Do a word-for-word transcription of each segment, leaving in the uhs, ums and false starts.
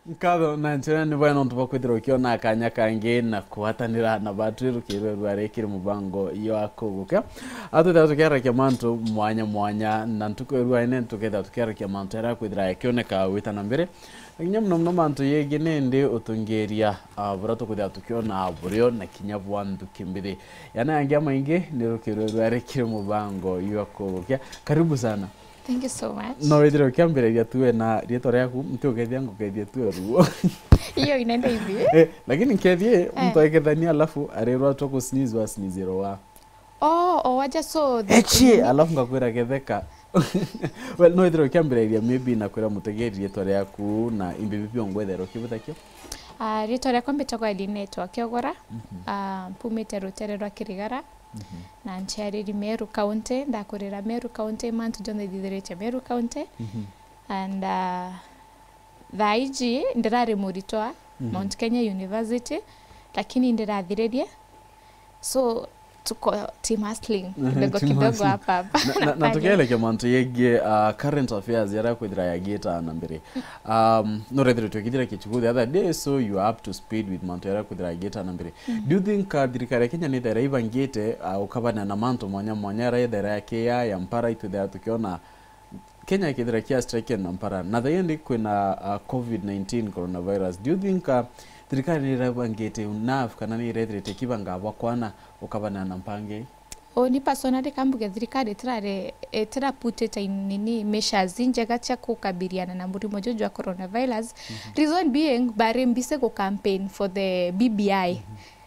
Nkatho na njira ni bwega nontu bwa kwithirwa ukiona kanya kangi na kugwatanira na batwi rukiri rwa rikiri mubango yo akugukia. Atwithira tukiarakia mantu mwanya mwanya na ntuku irua ine tukethira tukiarakia mantu aria kwithira yakioneka gwita na mbere. Na kinya muno muno mantu yegi nindi utungiria, ah, buria tukwithira tukiona burio na kinya bwa nthuki mbithi. Yana yangi amaingi ni rukiri rwa rikiri mubango yo akugukia. Karibu sana. Thank you so much. No withire ukiambiriria tu we na rietwa riaku, nti ukethia ngukethia tu ruo. Iyo inenda hivi. Eh, lakini nkethie, eh, mtu aikethania alafu arirwa tu ku sneeze wa sneeze wa. Oh, oh, waja so the Echi, alafu ngakwira getheka. Well, no withire ukiambiriria maybe na kwira mutegeri rietwa riaku na imbibi bio ngwetherwa kibutha kio. Ah, rietwa riakwa mbitagwa Elinetwa Kiogora. Mhm. Ah, mpumite rutere rwa Kirigara. Mhm. Na nciariri Meru County, ndakurira Meru County, mantu jonthe ithithiritie Meru County. Mhm. And, uh, thaa iji ndirari muritwa, mhm, Mount Kenya University, lakini ndirathiririe. So, tuko team hustling, mhm, kidogo team kidogo hustling. Hapa, hapa. Na, na, na tukielekia mantu yegie, uh, current affairs yaria kwithira yagiita na mbere. Um, no rethiritwe kithira kichuku the other day, so you are up to speed with mantu yaria kwithira yagiita na mbere. Mm. Do you think, uh, thirikari ya Kenya ni thaira ibangite, uh, ukabana na mantu mwanya mwanya yaria thaira ya kia ya mpara itwithira tukiona Kenya ikithira kia strike na mpara? Na thaira ndi kwina, uh, covid nineteen coronavirus. Do you think, uh, thirikari ni irabangite enough kana ni irethirite kibanga bwa kwana ukabana na mpangi? Uni personally kambuge thirikari itirari, itira put it in nini measures injega cia kukabiliana na murimo juju jwa coronavirus. Mhm. Reason being, bari mbise ku campaign for the B B I. Mhm.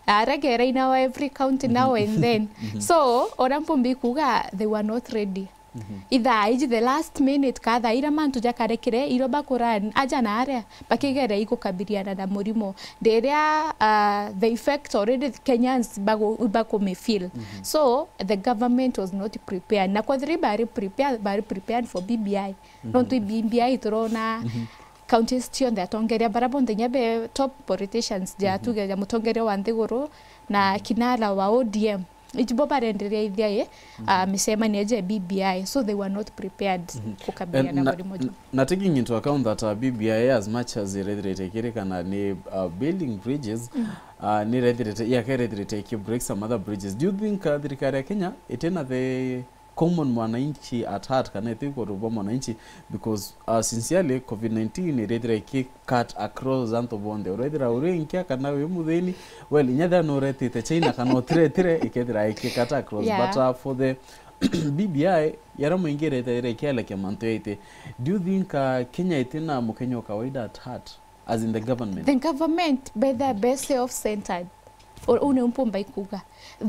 Aregera in our every county now and then. Mhm. So, ora mpumbi kuga they were not ready. Mhm. Ithaa iji the last minute, ka thaa ira mantu jakarekire, iro bakuran aja na aria, bakigere ikukabiliana na murimo. Riria, uh, the effect already Kenyans bagu-, bakumifeel. Mhm. So, the government was not prepared. Na kwethira bari prepared, bari prepared for B B I. Mhm. Nontu B B I turona, mhm, counties cionthe atongeria bara bonthe nya be top politicians ja, mhm, tuge ja mutongeria wa nthiguru na, mhm, kinara wa O D M. Ijibo barenderea ithia i, mhm, ah, micemanio ja B B I, so they were not prepared, mhm, kukabiliana na, na murimo ju. Na taking into account that, uh, B B I, as much as irethirite ikirikana ni, uh, building bridges, mm, uh, ni irethirite, yaka irethirite iki break some other bridges. Do you think, uh, thirikari ya Kenya itina the common mwananchi at heart, kana iti iguru bwa mwananchi? Because, uh, sincerely, covid nineteen irethira iki cut across antu bonthe. Urethira uri nkia kana wi muthini, well, inya thia nuretite China kana utiretire, ikethira iki cut across. Yeah. But, uh, for the B B I, yara muingi irethira ikielekia mantu yaite. Do you think, uh, Kenya itina Mukenya wa kawaida at heart? As in the government? The government, be the best self-centered. U-, u niu mpumba ikuga.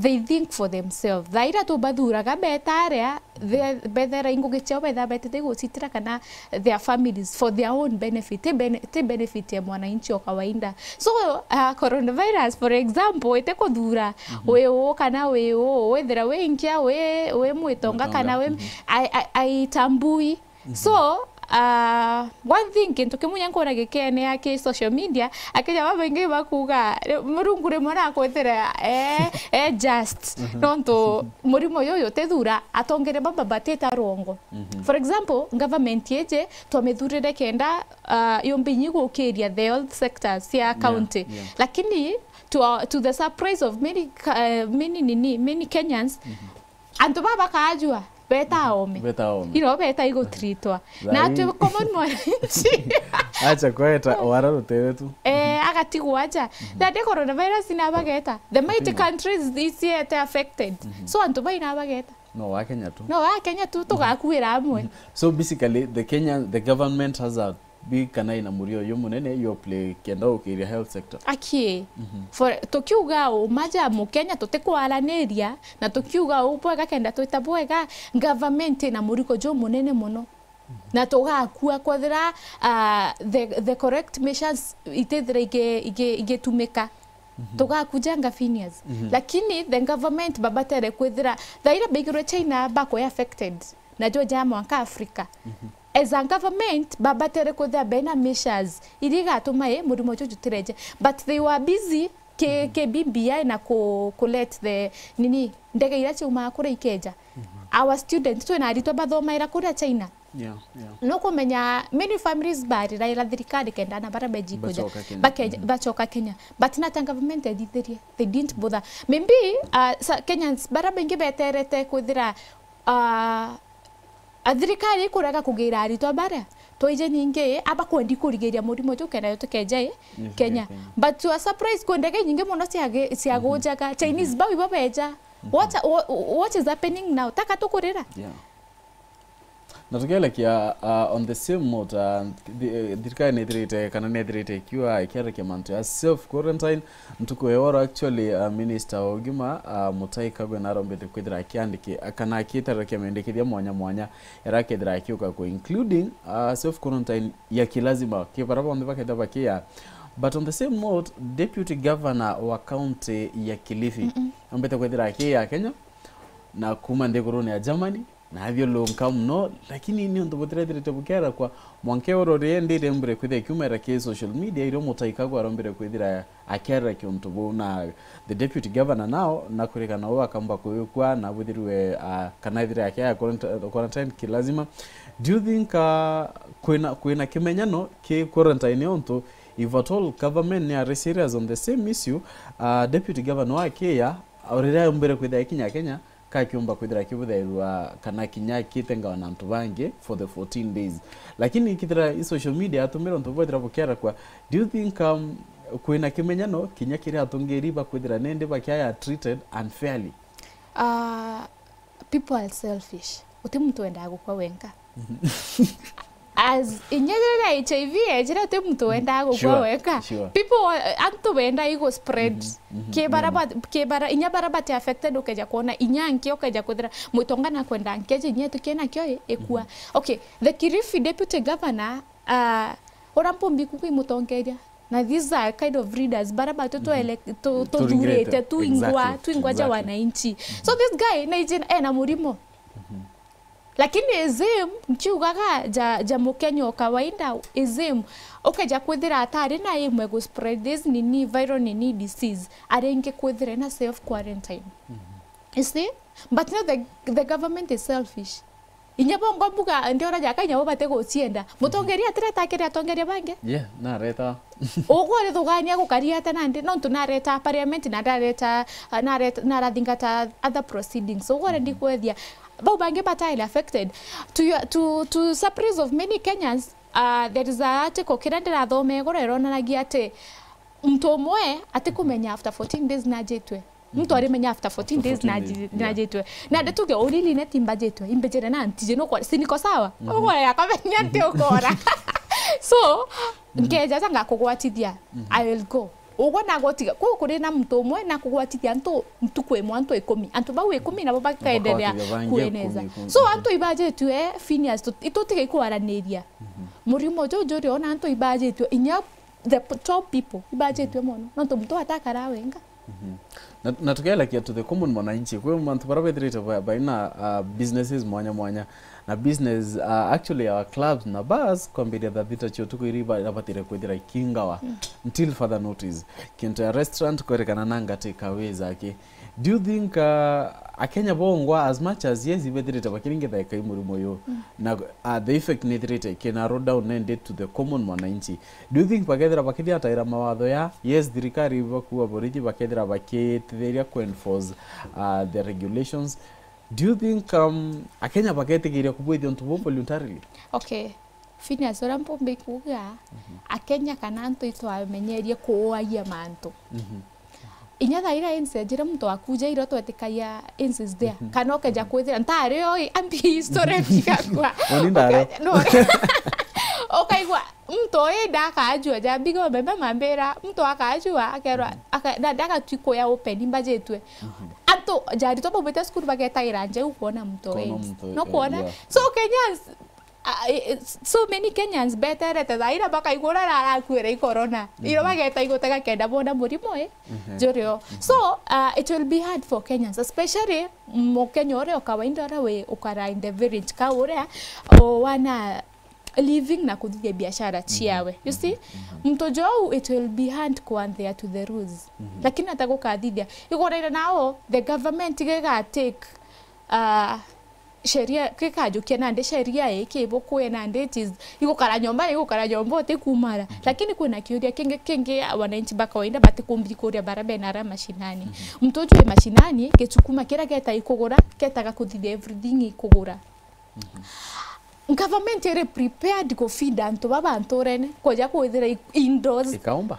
They think for themselves. Thaira tubathuraga beta aria, the-, bethera ingugi ciao betha betete gucitira kana their families for their own benefit, ti bene-, ti benefit ya mwananchi wa kawaida. So, uh, coronavirus, for example, ite kuthura, mhm, wi uu kana wi uu, withira wi nkia, wi, wi mwitonga, mwitonga, kana wi, mhm, ai-, ai-, aitambui. Mhm. So, ah, one thing, kintu kimwe nya nkona gikienea ki social media, akenya babaingi bakuga, ri-, Murungu rimwe nakwithire e, e just, mhm, nontu murimo yuyu utithura, atongeria baba batita rwongo. Mhm. For example, government iji twamithurire kenda, ah, yumbe inyi gukiria the health sector cia, yeah, county. Yeah. Lakini to, to the surprise of many, uh, many, nini, many Kenyans, mhm, antu baba bakajua, beta aome. Beta aome. Ino beta igutritwa. Na ati common mwananchi. Acha kweta, wara rutere tu. Eh, agatigwa aja. Mhm. That day coronavirus inabageta. The mighty countries is yet affected. Mhm. So antu bai nabageta. No wa Kenya tu. No wa Kenya tu, tugakuira amwe. Mhm. So basically, the Kenya, the government has a big kana ina murio uyu munene yo play kenda ukiria health sector. Akie. Mhm. For, tukiuga uma ja Mukenya tutikwaraniria, na tukiuga u bwega kenda twita bwega, government ina muriko ju munene muno. Mhm. Na tugakua kwethira, ah, the, the correct measures itithira igi-, igi-, igitumika. Mhm. Tugakuja nga Phineas. Mhm. Lakini the government babatere kwithira, thaira baigirwe China bakwe affected, na jo ja mwanka Africa. Mhm. As a government, babatere kwithira bena measures iria igatuma i murimo juju utireje. But they were busy ki, mhm, ki B B I na ku, ku let the, nini, ndege iria ciumaga kuria ikeja. Mhm. Our students, twina aritwa bathomaira kuria China. Yeah, yeah. Nukumenya many families bariraira thirikari kenda ana bara beji kuja. Bacoka Kenya. Bakeja-, bacoka Kenya. But nata government ethithirie. They didn't bother. Maybe, uh, sa-, Kenyans bara baingi beterete kwithira, uh, a thirikari ikurega kugira aritwa baria. Twaije ningi, aba kwendi kurigiria murimo juu kenda yo tukeja i Kenya. Kenya. But to a surprise, kwi ndege nyingi mono ciagi-, ciagujaga. Chinese bau ibo beja. What, what, what is happening now? Taka tukurira. Yeah. Na tukielekia, uh, on the same note, uh, thi-, eh, thirikari nithirite kana nithirite ikiuga ikiarekia mantu ya self quarantine. Ntuku ya oro actually, uh, minister wa ugima, uh, Mutai Kagwe narombete kwithira akiandiki-, kana akitarekia mendekithia mwanya mwanya yarakethira akiuka ku including, uh, self quarantine ya kilazima ki bara bonthe bakethira bakia. But on the same note, deputy governor wa county ya Kilifi, mm-mm, ambete kwithira akia Kenya na kuma nthigurune ya Germany, na athiurunka mono, lakini ni untu butirethirite bukiarekwa. Mwanka oro ri ndire mbure kwithira ikiumira ki social media, irio Mutai Kagwe arombire kwithira akiarekia untu buu, na the deputy governor now nakurikana uu akamba kwikwa na bwithirwe, ah, kana ethire akia quarant-, quarantine kilazima. Do you think, ah, kwina, kwina kimenyano ki quarantine untu if at all government ni are serious on the same issue, ah, deputy governor wa Kenya, riria aumbire kwithira ikinya Kenya, kakiumba kwithira kibuthairwa kana kinya kitengawa na antu bangi for the fourteen days. Lakini kithira i social media atumira untu bwethira bukiarekwa, do you think, um, kwina kimenyano kinya kiri atungiri bakwithira nindi bakiaya treated unfairly? Uh, people are selfish. Uti muntu wendaga gukwa wenka. As inya riria H I V yejire, uti muntu wendaga gukua weka. Sure. People wa-, antu benda igo spread. Mhm, mhm, ki bara ba-, ki bara, inya bara bati affected ukeja kuona, inya nki ukeja kwithira mwitonga na kwenda nkeja inya tukena kio i-, ikua. Mhm. Okay, the Kilifi deputy governor, uh, ura mpumbi kuku imutongeria. Na these are kind of leaders, bara batu tu-, ele-, tu-, tuthurite, exactly, twingwa, twingwa ja wananchi. So this guy, na iji ena murimo. Mhm. Lakini is him, nkiugaga ja, ja Mukenya o kawaida, is him, ukeja kwithira atari na imwe gu spread this nini, viral nini disease, aringi kwithira na self quarantine. Mhm. You see? But now the, the government is selfish. Inya bongo mbuga, ndiora jaka inya bo bate gucienda. Mutongeria atireta akiri atongeria bangi? Yeah, nareta. Ugu arithugania gukaria ata nandi? Nontu nareta parliament na ndareta, nareta, narathingata other proceedings. Ugu arendi kwethia. Bau bangi bataile affected. To your, to, to surprise of many Kenyans, uh, there is a article kiria ndirathoma iguru ironanagia ati muntu umwe atikumenya after fourteen days najitwe. Muntu arimenya after fourteen days naji-, najitwe. Na ndetuge urili ne timbajitwe, imbejere na ntije no kwa, si niko sawa? Ugo ya kamenya nti ukora. So, ngeja ja ngakugwatithia, I will go. Ugo na gotiga, ku kuri na muntu umwe na kugwatithia antu ntuku imwe antu ikumi. Antu bau ikumi nabo bakaendelea kueneza. So, antu ibajitwe, Phineas, tu-, itutiga ikwaraniria. Murimo juju uri ona antu ibajitwe, inya the p-, top people ibajitwe mono. Nontu muntu atakara wenga. Mhm. Na, na tukielekia to the common mwananchi, kwi mantu bara bethirite ba-, baina, uh, businesses mwanya mwanya. Na business, uh, actually our clubs na bars kwambiria thaa thita cia utuku iri ba-, irabatire kwithira ikingawa until further notice. Kintu ya restaurant kwerekana na ngati kawi jake. Do you think, uh, Akenya bongwa, as much as yes, ibethirite bakiringitha ikai murimo uyu, na, uh, the effect nithirite ikina roll down nende to the common mwananchi? Do you think bakethira bakithiataira mawatho ya, yes, thirikari bakuwa borithi bakethira bakitithiria ku enforce, uh, the regulations? Do you think, um, Akenya baketigiria kubwithia untu buu voluntarily? Okay. Phineas, uria mpumbi kuuga, Akenya kana antu itwamenyerie kuuagia mantu. Inya thaira insi ejire muntu wakuja iro twetikagia insi is there. Kana ukeja kwithira, ntari oi, ambi history chikakwa. Oni ndari. Uke-, no. Ukaigua, muntu oi ndakajua, ja mbigo mbembe mambira, muntu akajua, akerwa, aka-, na ndagatwi kuya open, imbajitwe. Antu, jari twa baumite cukuru bagetagira nje u kuona muntu oi. Kuona muntu, no kuona. Yeah. So, Kenyans, ah, eh, eh, so many Kenyans beterete thaa ira bakaigua uria arakuire i corona. Iro bageta igutega kenda bona murimo i jurio. So, uh, it will be hard for Kenyans, especially Mukenya uria o kawaida uria wi ukara in the village ka uria o wana living na kuthithia biashara ciawe. You see? Muntu jou, it will be hard kuanthea to the rules. Lakini atagukathithia. Iguraire nao, the government giga take, uh, Sheria, kikajukia nandi sheria ii kibukue nandi, it is, igukara nyomba, igukara nyomba, utikumara. Lakini kwina kiuria kingi, kingi wananchi ba kawaida batikumbiri kuria bara bena ara mashinani. Muntu uju wi mashinani, gicukuma kiria geta ikugura, getaga kuthithia everything ikugura. Government iri prepared ku feed antu baba nturene, kuja kwithira i-, indoors? Ikaumba.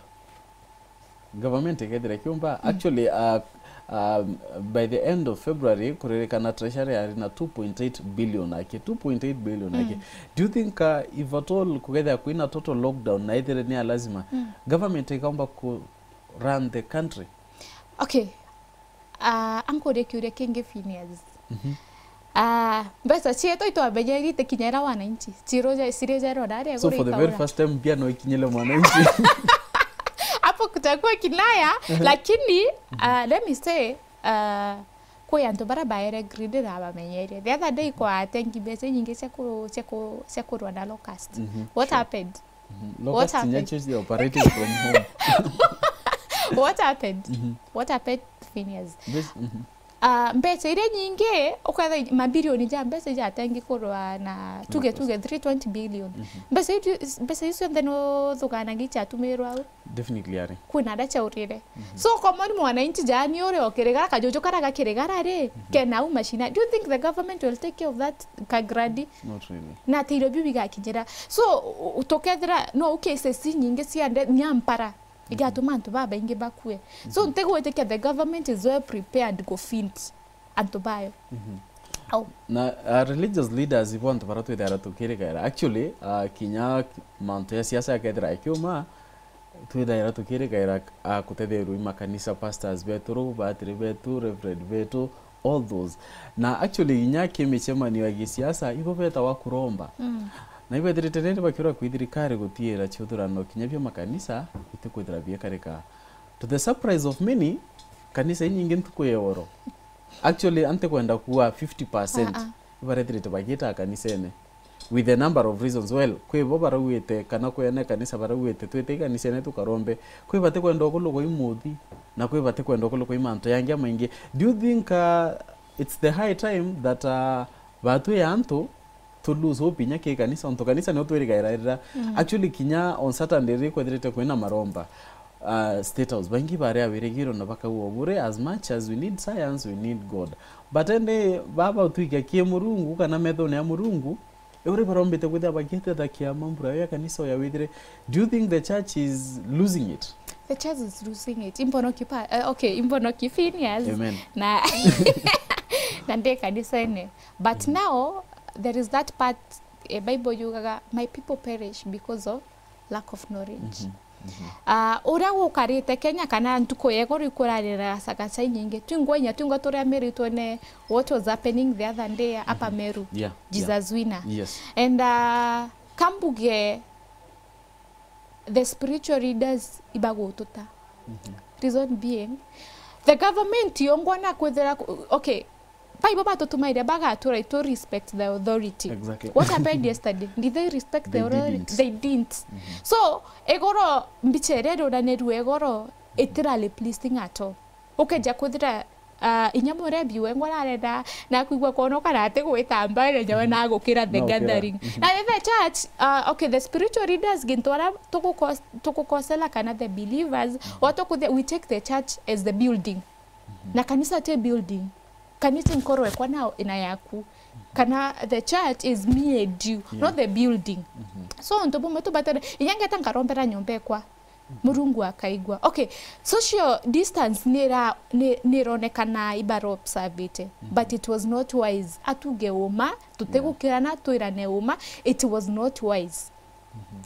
Government ikethira ikiumba. Actually, uh, um, by the end of February, kuririkana treasury yari na two point eight billion aki, two point eight billion aki. Do you think, uh, if at all kugethira kwina total lockdown na ithire ni ya lazima, government ikaumba ku run the country? Okay. Ah, ankurie kiuria kingi, Phineas. Ah, mbeca cietu itwamenyerie itikinyera wananchi. Ciruja-, cirijerwa naria iguru ikaura. So for the very first time, mbia no ikinyire mwananchi. Hapo kutakuwa kinaya, lakini, ah, let me say, ah, kwi antu bara baere greed na bamenyeria. The other day kwa atengi mbeca inyingi cia ku-, cia ku-, cia kurwa na locust. What happened? Locust happened? Nyacho is operating from home. What happened? What happened, Phineas? This, mhm. Ah, mbeca iria nyingi, uketha mabilioni ja mbeca ijatengi kurwa na tuge, tuge three twenty billion. Mbeca icio, mbeca icio cionthe no thuganagia ichatumirwa au? Definitely ari. Kwina aria chaurire. So, common mwananchi jani uri o kirigara, kajuju kara ga kirigara ri, kena au mashina. Do you think the government will take care of that kagradi? Not really. Na atiro biu bigakinyira. So, u-, tukethira no u cases nyingi cia nde-, nyampara igatuma antu babaingi bakue. So, ntigwitikia the government is well prepared ku feed antu bayo. Au. Na, uh, religious leaders ibo antu bara twithaira tukirikaira. Actually, uh, kinya mantu ya siasa yakethira ikiuma, twithaira tukirikaira, uh, kutetherua i makanisa, pastors betu, batiri betu, reverend betu, all those. Na actually, inya ki micemanio ya gisiasa, ibo betawa kuromba. Na ibethirite riri bakiura kwi thirikari gutiira ciuthurano kinya bia makanisa, bitikwithira biekarika. To the surprise of many, kanisa inyingi ntuku ya oro. Actually, antikwenda kuwa fifty percent ibarethirite bagiita kanisene. With a number of reasons. Well, kwi bo barauite kana kwene kanisa barauite twite kanisene tukarombe. Kwi batikwenda ukulukwa i muthi, na kwi batikwenda ukulukwa i mantu yangi amaingi. Do you think, uh, it's the high time that, uh, batwi ya antu to lose hope inya ki kanisa, ontu kanisa nio twirigairira. Actually, kinya on Saturday ri kwethirite kwina maromba, uh, State House, baingi bari awirigiro na bakauga bure, as much as we need science, we need God. But ende baba utwikia ki Murungu kana methone ya Murungu, uri barombite kwithira bagitethakia mambura ya kanisa ya withire. Do you think the church is losing it? The church is losing it. Imbono kipa, uh, okay, imbono kifinias. Amen. Na, na ndi kanisene. But now, there is that part, eh, Bible yugaga, "My people perish because of lack of knowledge." Ah, uria gukarite Kenya kana ntuku ya igoro ikurarira sagaca inyingi. Twingwa inya twingwa turia miritwe ne what was happening the other day hapa Meru. Yeah, yeah. Jesus Wina. Yes. And, ah, kambuge the spiritual leaders ibagututa. Reason being, the government yongwa na kwithira ku-, okay, Bible batutumaire bagatura to respect the authority. Exactly. What happened yesterday? Did they respect the authority? They didn't. They didn't. So, igoro, mbicha iria iruranirue igoro, itira replacing at all. Ukeja kwithira, ah, inya murebi wengwa ararenda na kwigua kwonoka na ati gwitamba ira nyawe na gukira the gathering. Na the church, ah, okay, the spiritual leaders gintu ara tukukos-, tukukosela kana the believers, wa tukuthia, we take the church as the building. Na kanisa ti building. Kanisa inkoro ekwa na ina yaku. Kana the church is me and you, not the building. So, untu bumwe tubatare, inya ngeta nkarombera nyomba ekwa. Murungu akaigua. Okay, social distance nira-, ni-, nironekana ibaro observite, but it was not wise. Atuge uma, tutigukirana, twirane uma, it was not wise.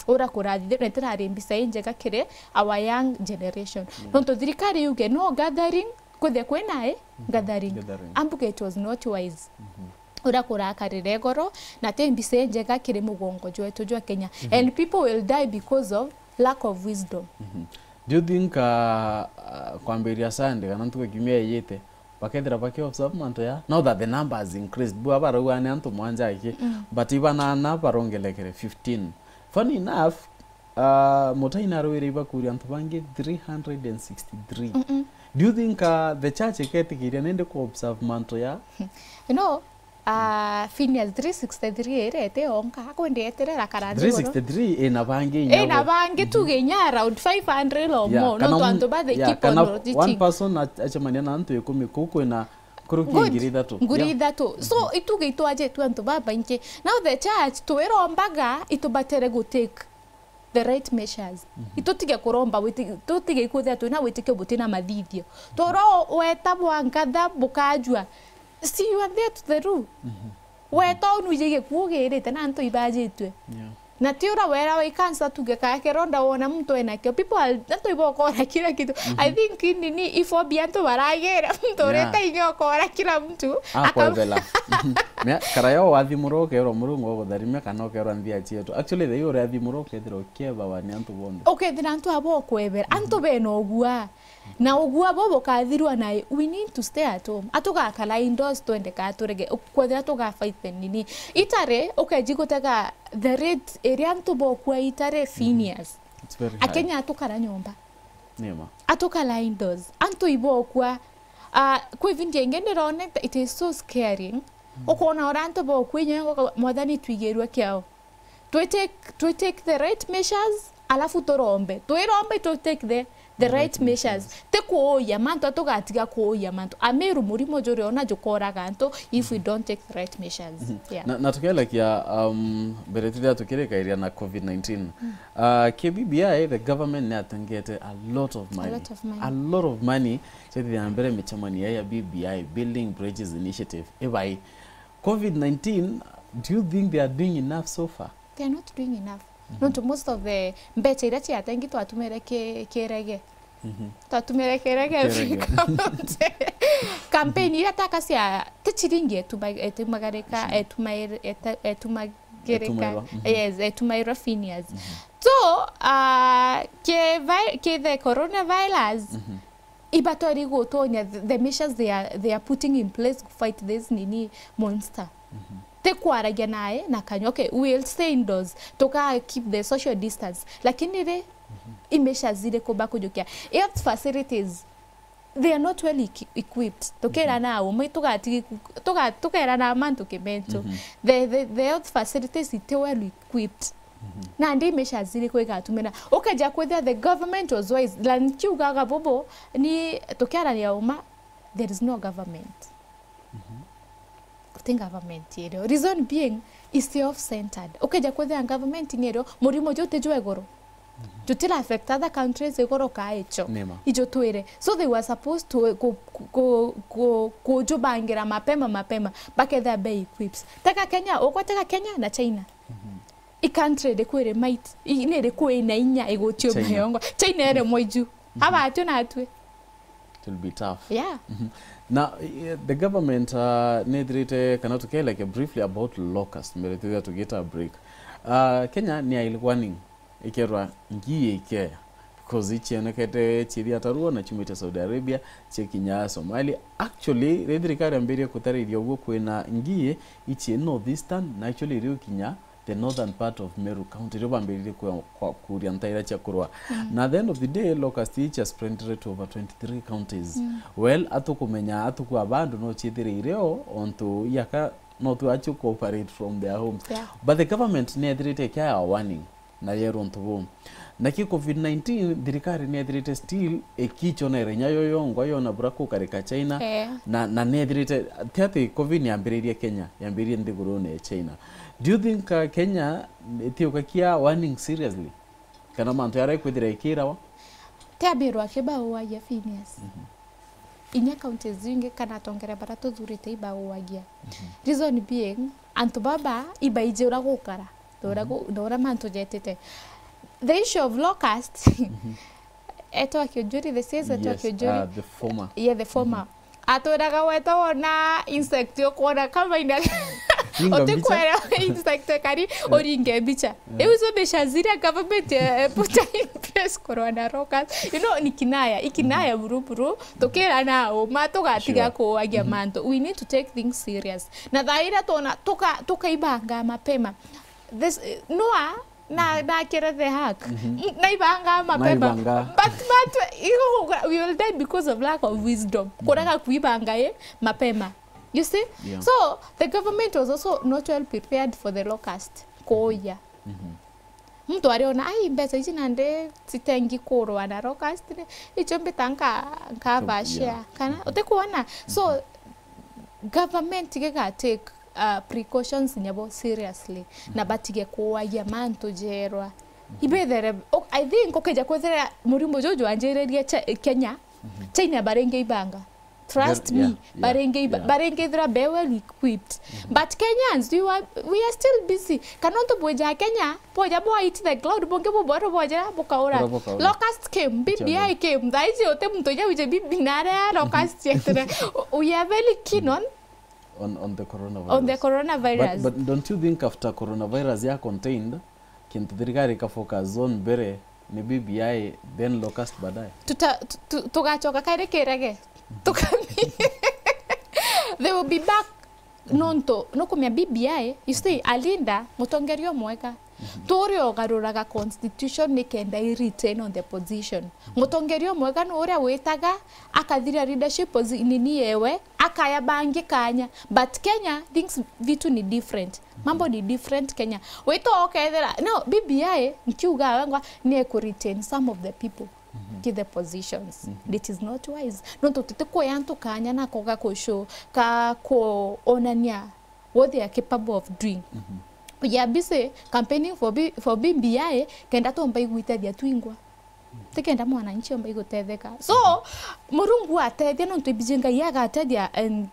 Ura kurathithirwe, itirari mbica injega kiri our young generation. Nontu thirikari yuge no gathering, kwithia kwina i gathering. Ambuge it was not wise. Ura kurakarire igoro, na ti mbica injega kiri mugongo jwetu jwa Kenya. And people will die because of lack of wisdom. Do you think, uh, uh, kwambiria Sunday kana ntuku ya kiumia iyite, bakethira baki observe mantu ya, now that the number has increased, bua barauga ni antu mwanja aki, but ibanana barongelekere fifteen. Funny enough, uh, Mutahi narwire ibakuria antu bangi three hundred and sixty-three. Do you think, uh, the church iketikiria nindi ku observe mantu ya? You know, Ah, Phineas, three sixty-three irete onka, akwendeeterera karandi three sixty-three ina bangi inya ina bo. Bangi tuge inya around five hundred or yeah, more, no kana twantu bathe yeah, keep kana on one person acemania na antu ikumi, kuu kwina kuruki ngiri ithatu. Ngiri ithatu. So ituge itwajitwe antu babaingi. Now the church twirombaga itubatere gu take the right measures. Itutige kuromba witi-, tutige ikwithira twina witikio butina mathithio. Toro weta bwa nkatha bukajua. See, you are there to the rule. Weta unu ije gikuo girite na antu ibajitwe. Yeah. Na ti ura wera wa ikansa tuge kaya kironda wona muntu enakio. People are, antu ibokora kila kitu. I think nini iphobia antu baragira muntu urete inya okora kila mtu. Akwebela. Mea, karaya wathimurwa ukerwa Murungu agutharimia kana ukerwa nthia cietu. Actually, the uri athimurwa ukethirwa ukiebawa ni antu bonthe. Ukethira antu abo ukwebera. Antu bena ugua. Na ugua bo bukathirwa na we need to stay at home. Atugakara indoors twende ka turege. Kwethira tuga fight the nini. Itare, ukeji gutega the rate iria antu bokua itare Phineas. It's very high. Akenya atukara nyomba. Nima. Atukara indoors. Antu ibokua. Ah, kwi video ingi ndirone, it is so scaring. Ukona ura antu bokua inyo mwathani twigirwe kiao. Twi take, twi take the right measures, alafu turombe. Twirombe tu take the, the right measures. Ti kuuya mantu, atugatiga kuuya mantu. Amiru murimo juri ona jukoraga antu if we don't take the right measures. Yeah. Na, na tukielekia, um, mbere turia tukirikairia na covid nineteen. Uh, K B B I, the government ni atengete a lot of money. A lot of money. A lot of money. Chethia mbere micemanio ya B B I, Building Bridges Initiative. Ibai, covid nineteen, do you think they are doing enough so far? They are not doing enough. Nontu most of the mbecha iria ciatengi twatumire ki-, kirege. Twatumire kirege. Kirege. Campaign iria taka cia, ti chiringi etuma-, etumagarika, etumair-, eta-, etumagirika. Etumairwa. Yes, etumairwa Phineas. So, uh, ki vi-, ki the coronavirus, ibatweri gutonya the, the measures they are, they are putting in place to fight this nini monster. Ti kwaragia nae na kanywa. Okay, we will stay indoors. Tuka keep the social distance. Lakini ri, i measures iriku bakujukia? Health facilities, they are not well equi-, equipped. Tukera na umwe, tugatigi ku-, tuga-, tukera na mantu kimentu. The, the, the health facilities iti well equipped. Nandi measures iriku igatumira? Ukeja kwithira the government was wise, na nkiugaga bubu, ni tukiarania uma, there is no government. Guti government irio. Reason being is self-centered. Ukeja kwithira government nirio, murimo ju utijwa iguru. Jutira affect other countries iguru ka icho. Nima. Ijo twire. So they were supposed to ku-, ku-, ku-, ku-, kujubangira mapema mapema. Bakethira be equipped. Tega Kenya, ukwa tega Kenya na China. I country iriku iri might, i-, ni iriku ina inya igucio mayongo? China iri mwiju. Abatio natwe. It will be tough. Yeah. Na, eh, the government, uh, nithirite, kana tukieleke briefly about locust, mbere tuthia tugita break. Uh, Kenya ni ail warning, ikerwa ngii ikeya. Because icionekete ciithia tarua na ciumite Saudi Arabia, cikinya Somalia. Actually, ri thirikari yambirie kutarithia uguo kwina ngii ici North Eastern, na actually iri ukinya the northern part of Meru County, rio bambiririe kwa, kwa, kuria ntaira cia kurwa. Na at the end of the day, locust ici cia spreadire to over twenty-three counties. Well, atukumenya atuku abandu no ciithirire o, ontu iaka no tu acio cooperate from their homes. Yeah. But the government ni ethirite ikiaga warning na yerwa untu buu. Naki covid nineteen, thirikari ni ethirite still ikichonera inya yo yongwa yona bura kukarika China, na, na ni ethirite, ti ati covid yambiririe Kenya, yambiririe nthigurune ya China. Do you think, uh, Kenya itiukakia warning seriously? Kana mantu yaria ikwithira ikirawa? Ti abirwa akibaguagia Phineas. Inya counties zingi kana atongere bara tuthurite ibaguagia. Reason being, antu baba ibaiji ura gukara, na ura gu-, na ura mantu jetite. The issue of locust, Etwa Kiunjuri, the says Etwa Kiunjuri. Yes, uh, the former. Yeah, the former. Atwiraga weta wona insect ukwona kama ina utikwera insect kari uringe mbicha. Iu icio mbicha ziria government, eh, put in place kurwa na locust. You know, ni kinaya, ikinaya buru buru, tukira na uma, tugatiga kuagia mantu. We need to take things serious. Na thaa iria twona, tuka-, tukaibanga mapema. This, eh, Noah, Na, na kere the hack. Naibanga mapema. Naibanga. But, but, igo, we will die because of lack of wisdom. Kurega kuibanga, eh, mapema. You see? Yeah. So, the government was also not well prepared for the locust. Kuuya. Mhm. Muntu ariona, "Ai, mbeca ici nandi citengi kurwa na locust, ni icio mbita nka-, nkava share." Yeah. Kana, mhm, utikuona? So, mhm, government giga take, uh, precautions nyabo seriously, na, mhm, batige kuagia mantu jerwa. Mhm. Ibethere, o-, I think ukija kwithira murimo juju wanjiririe Che-, Kenya, mhm, China baringi ibanga. Trust me, yeah, yeah, baringi iba-, yeah, baringi ithira be well equipped. Mhm. But Kenyans, we were, we are still busy. Kana untu bwija Kenya, bwaja bwa hit the cloud, bungi bubwaro bwaja bukaura. Bura bukaura. Locust came, B B I came. Thaa ici uti muntu uja wije B B I nare ya locust yetire. We are very keen on, on, on the coronavirus. On the coronavirus. But, but don't you think after coronavirus ya contained, kintu thirikari ika focus on mbere ni B B I, then locust baadaye? Tuta-, tu-, tu-, tugacoka kairi kirege. Tukami-, they will be back. Nontu nukumenya B B I, you see, a leader, mutongeria umwega, mhm, turi ugaruraga constitution nikenda i retain on the position. Mutongeria umwega ni uria witaga, akathira leadership posi-, nini yewe, akaya bangi kanya. But Kenya, things, vitu ni different. Mambo ni different Kenya. Wito ukethira, no, B B I, nkiuga wengwa, ni ku retain some of the people, mhm, ki the positions. Mhm. It is not wise. Nontu tutikuya antu kanya na koga kushow, ka kuonania what they are capable of doing. Mhm. We are busy campaigning for B-, for B B I, kenda tuomba igwitethia twingwa. Tikenda mwananchi omba igutetheka. So, Murungu atethia nontu ibiji Ngai agatethia and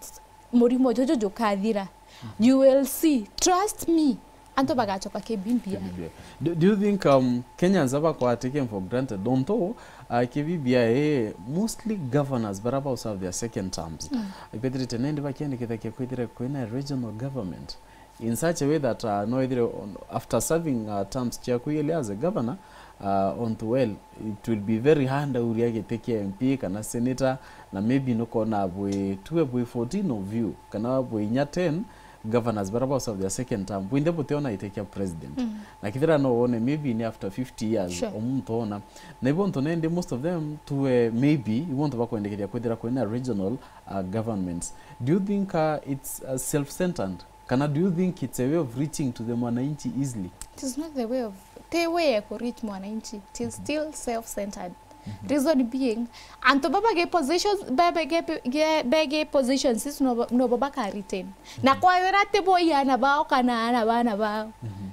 murimo juju jukathira. Mhm. You will see. Trust me. Antu bagacoka ki B B I. Ki B B I. Do, do you think, um, Kenyans aba kwa taken for granted? Don't know, uh, ki B B I, mostly governors bara ba serve their second terms. Mm. Ibethirite nindi bakiandikithagia kwithira kwina regional government. In such a way that, uh, no ethire on, after serving, uh, terms ciaku ili as a governor, uh, onto well, it will be very hard uria giti kia M P kana senator, na maybe nukona bwi, tuwe bwi fourteen of you, kana bwi inya ten governors bara ba serve their second term, bwinthe butiona giti kia president. Mm. Na kithira no wone maybe ni after fifty years, sure, omuntu ona. Na ibo onto nendi most of them tuwe maybe, ibo onto bakwendekeria kwithira kwina regional, uh, governments. Do you think, uh, it's, uh, self-centered? Kana do you think it's a way of reaching to the mwananchi easily? It is not the way of, the way ya ku reach mwananchi. It is, mhm, still self-centered. Mhm. Reason being, antu baba ge positions, baba ge, ge, bege positions, is no, no baba ka retain. Na, mhm, kwethira ti bo i ana bao kana ana bana bao. Mhm.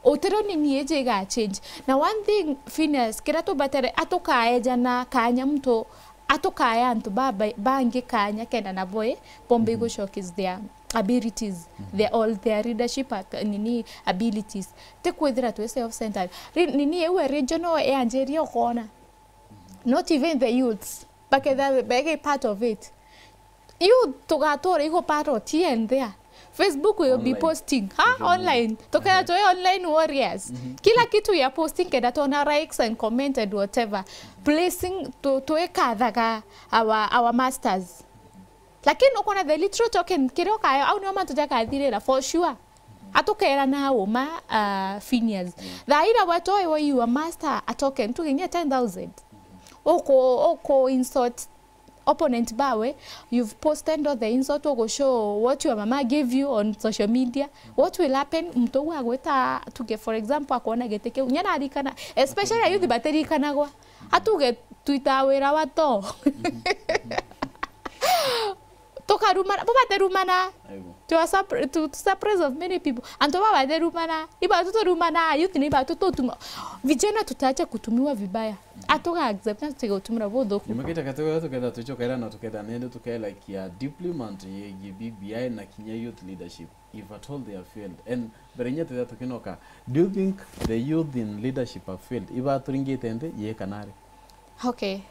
Utiro ni ni iji iga change. Na one thing, Phineas, kira tubatere, atukaejana kanya muntu, atukaya antu baba-, bangi kanya kenda nabo i, bombe, mhm, igu showcase their abilities, mhm, their, all their leadership ac-, nini abilities. Ti kwithira twi self-centered. Ri-, nini iu ya regional yanjiria ukona. Not even the youths. Bakethira begi part of it. Youth tugatura igu part of T N there. Facebook will be, online, posting. Ha? Social media. Online. Tukethira, mhm, twi online warriors. Mhm. Kila kitu ya posting kenda twona likes and comment and whatever. Placing tu-, twikathaga our, our masters. Lakini ukona the literal token, kiria ukayo, au nio mantu jakathirira, for sure. Atukerana uma, uh, Phineas. Yeah. Thaa ira we toi we you a master a token, tuginyie ten thousand. Uku, uku insult opponent bawe, you've posted all the insult, ugu show what your mama gave you on social media. What will happen? Muntu uu agwita, tuge, for example, akwona giti kiu. Nya narikana, especially youth batirikanagwa. Atuge twita wira wa to. Tukarumana, bo baterumana. Aibo. To a surpri-, to, to surprise of many people. Antu ba baterumana, iba tuturumana, youth ni iba tututuma. Vijana tutaacha kutumiwa vibaya. Atuga accept na tutige gutumirwa buthuku. Nyuma kita katoga tuketha tucokaira na tuketha nende tukela kia deeply mantu yegie B B I na kinya youth leadership, if at all they have failed. And mbere nya tutha tukinoka, do you think the youth in leadership have failed? Iba turingite nthi, ye kana ri? Okay.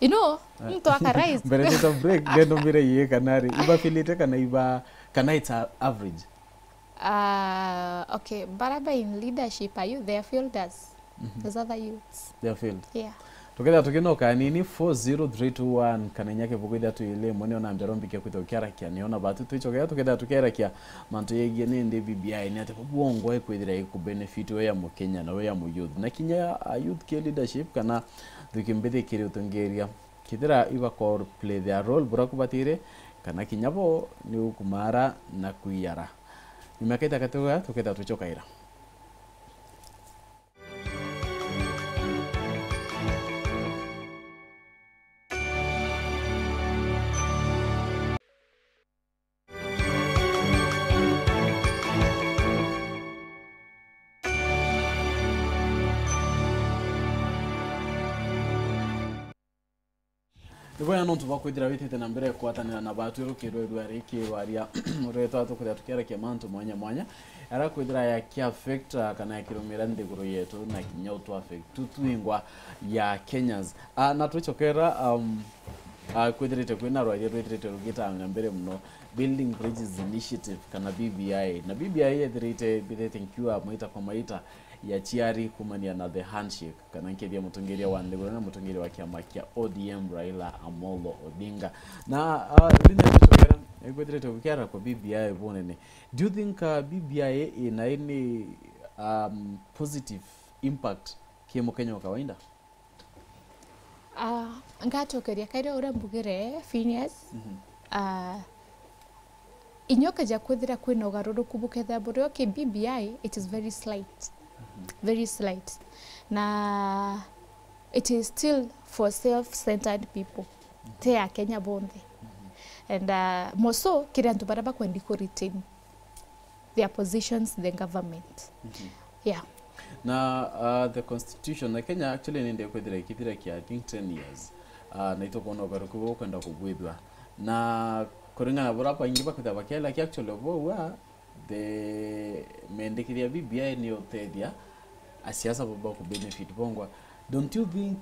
You know, ah, muntu aka rise. Mbere tuta break, then umbire ye kana ri. Iba failite kana iba, kana it's a average? Ah, okay. Baraba in leadership, are you, they have failed us. Mhm. As other youths. They have failed. Yeah. Tuketha tukinoka nini, four zero three two one, kana inya kibuku ithatu ili imwe, nio nambia rombike kwitha ukiarakia, nio na batu twichokea, tuketha tukiarakia mantu yegie nindi B B I, ni ati bwongo ikwithira iku benefit we ya Mukenya na we ya mu youth. Na kinya a youth ki leadership, kana thuki mbithi kiri utongeria. Kethira iba ko play their role bura kubatire, kana kinya bo ni ukumara na kwiyara. Nyuma ya kaita gatoga tukethira twicokaira. Ni bwega nontu bwa kwithira witite na mbere kugwatanira na batwi rukirwe rwa riki rwaria ruretwa tukwithira tukiarakia mantu mwanya mwanya, ara kwithira yaki affect, ah, kana yakirumira nthiguru yetu na kinya utu affect tu twingwa ya Kenyans. Ah, na twicokera, um, ah, kwithirite kwina rwaria rwithirite rugitanga mbere muno, Building Bridges Initiative kana B B I. Na B B I yethirite, mbithirite nkiuga maita kwa maita ya ciari kumania na the handshake, kana nkethia mutongeria wa nthiguru na mutongeria wa kiama kia O D M Raila Amolo Odinga. Na, ah, Linda Tuchokera, ikwithirite gukiara kwa B B I bunene. Do you think, uh, B B I ina any, um, positive impact ki mukenya wa kawaida? Ah, ngacokeria kairi uria mbugire, Phineas. Mhm. Ah, inya ukeja kwithira kwina ugaruruku bukethira burio ki B B I, it is very slight. Mhm. Very slight. Na it is still for self-centered people. Mhm. Ti Akenya bonthe. Mhm. And, ah, more so, kiri antu baria bakwendi ku retain their positions in the government. Mhm. Yeah. Na, uh, the constitution na Kenya actually nindi kwithira ikithira kia, I think, ten years. Uh, na itukwona ugaruku buu ukwenda kubwithua. Na kuringana na buria baingi bakwithira bakiela ki actually buu, uh, the mendekithia ya B B I ni utethia asiasa baba ku benefit bongwa. Don't you think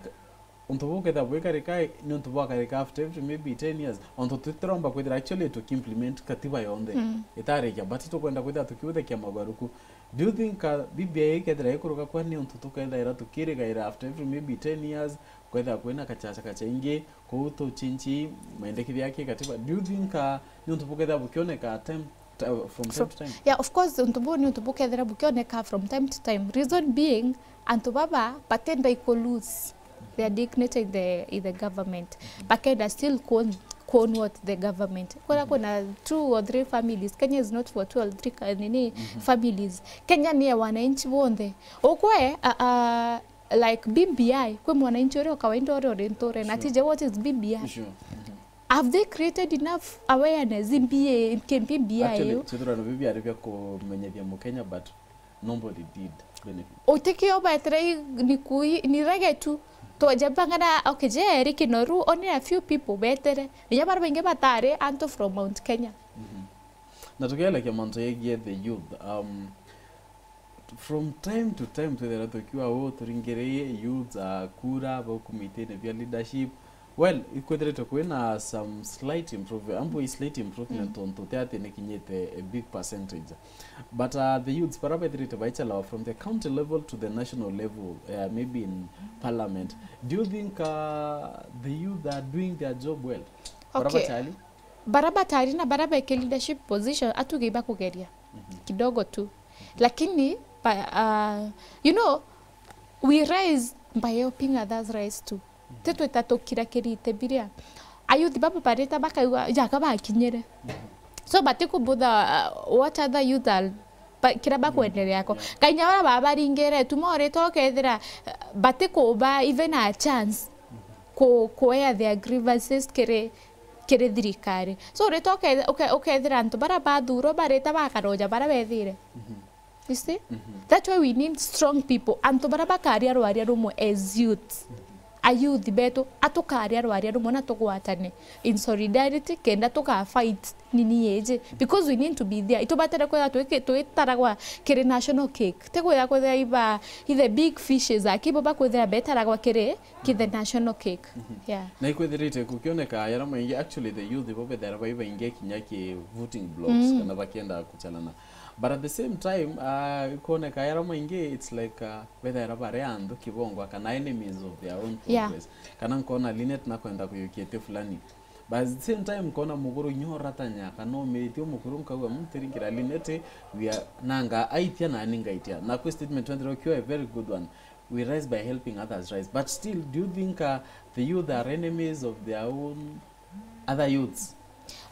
untu buu kethira bwikarika, ni untu bwakarika after every maybe ten years? Ontu tutiromba kwithira actually tukiimplement katiba yonthe. Mm. Itarikia, but tukwenda kwithira tukiuthekia mogaruku. Do you think, uh, B B I ikethira ikuruka kwa ni untu tukethaira tukirigaira after every maybe ten years, kwethira kwina kachacha kachaingi, kuu tuchinchi maendekithia ya kikatiba? Do you think, uh, ni untu bukethira bukioneka time, ti-, from time So, to time? Yeah, of course, untu buu ni untu bukethira bukioneka from time to time. Reason being, antu baba batenda iku lose their dignity in the, in the government. Bakenda still kuon-, kuon what the government. Kwona kuna two or three families. Kenya is not for two or three ka-, nini, Mhm. families. Kenya ni ya wananchi bonthe. Ukwe, a, a, like B B I, kwi mwananchi uria o kawaida uria uri nture, na Sure. tije what is B B I? Sure. Mhm. Have they created enough awareness in B A, in B B I Actually, yo? Chithurano bibi ari bia kumenyethia Mukenya, but nobody did benefit. Utikio betere i-, ni kui-, ni rege tu. Twajabangana, okay, je, eri kinoru, only a few people betere. Ninya bara baingi batari antu from Mount Kenya. Mhm. Na tukielekia mantu yegie the youth, um, from time to time twithira tukiwa u turingiririe youths a kura baukumitine bia leadership. Well, ikwithiritwe kwina some slight improvement, ambu i slight improvement Mm. tontu ti ati nikinyite a big percentage. But, uh, the youths bara bethirite baichalawa from the county level to the national level, uh, maybe in parliament. Do you think, uh, the youth are doing their job well? Bara Okay. bachali? Bara batari na bara beki leadership position, atuge ibakugeria Mhm. kidogo tu. Lakini, ba, uh, you know, we rise by helping others rise too. Ti twita tukira kirite biria. Ayuthi baba barita bakauga, jaga bakinyire. So, batikubutha, uh, what other youth are, ba, kira bakwenderea ko. Yeah. Kainya bara babaringire, tu morite ukethira, uh, batikuba even a chance ku, kuea their grievances kiri, kiri thirikari. So, urita uke-, uke-, ukethira antu bara bathurwa barita bakaroja bara bethire. Mhm. You see? Mhm. That's why we need strong people. Antu bara bakaria rwaria rumwe as youth. Mhm. A youth betu, atukaria rwaria rumwe na tugwatane in solidarity, kenda tuga fight nini yeje. Because we need to be there. Itubatire kwetha twiki-, twitaragwa kiri national cake. Ti kwetha kwetha iba, i the big fishes, akibo bakwethira betaragwa kiri ki the national cake. Mhm. Yeah. Na ikwithirite gukioneka yara maingi, actually the youth ibo bethera bai baingi kinya ki voting blocks Mm. kana bakienda kuchalana. But at the same time, uh, ikoneka yara maingi, it's like, uh, bethera bare antu kibongwa kana enemies of their own Yeah. progress. Kana nkona Linet nakwenda kuyukia iti fulani. But at the same time, nkona muguru inya uratanya kana umiritio mukuru nkauga, "Mm, tiringira Linet, we are, nanga aitia nani ngaitia." Na kwi statement wendere ukiwa a very good one. We rise by helping others rise. But still, do you think, uh, the youth are enemies of their own other youths?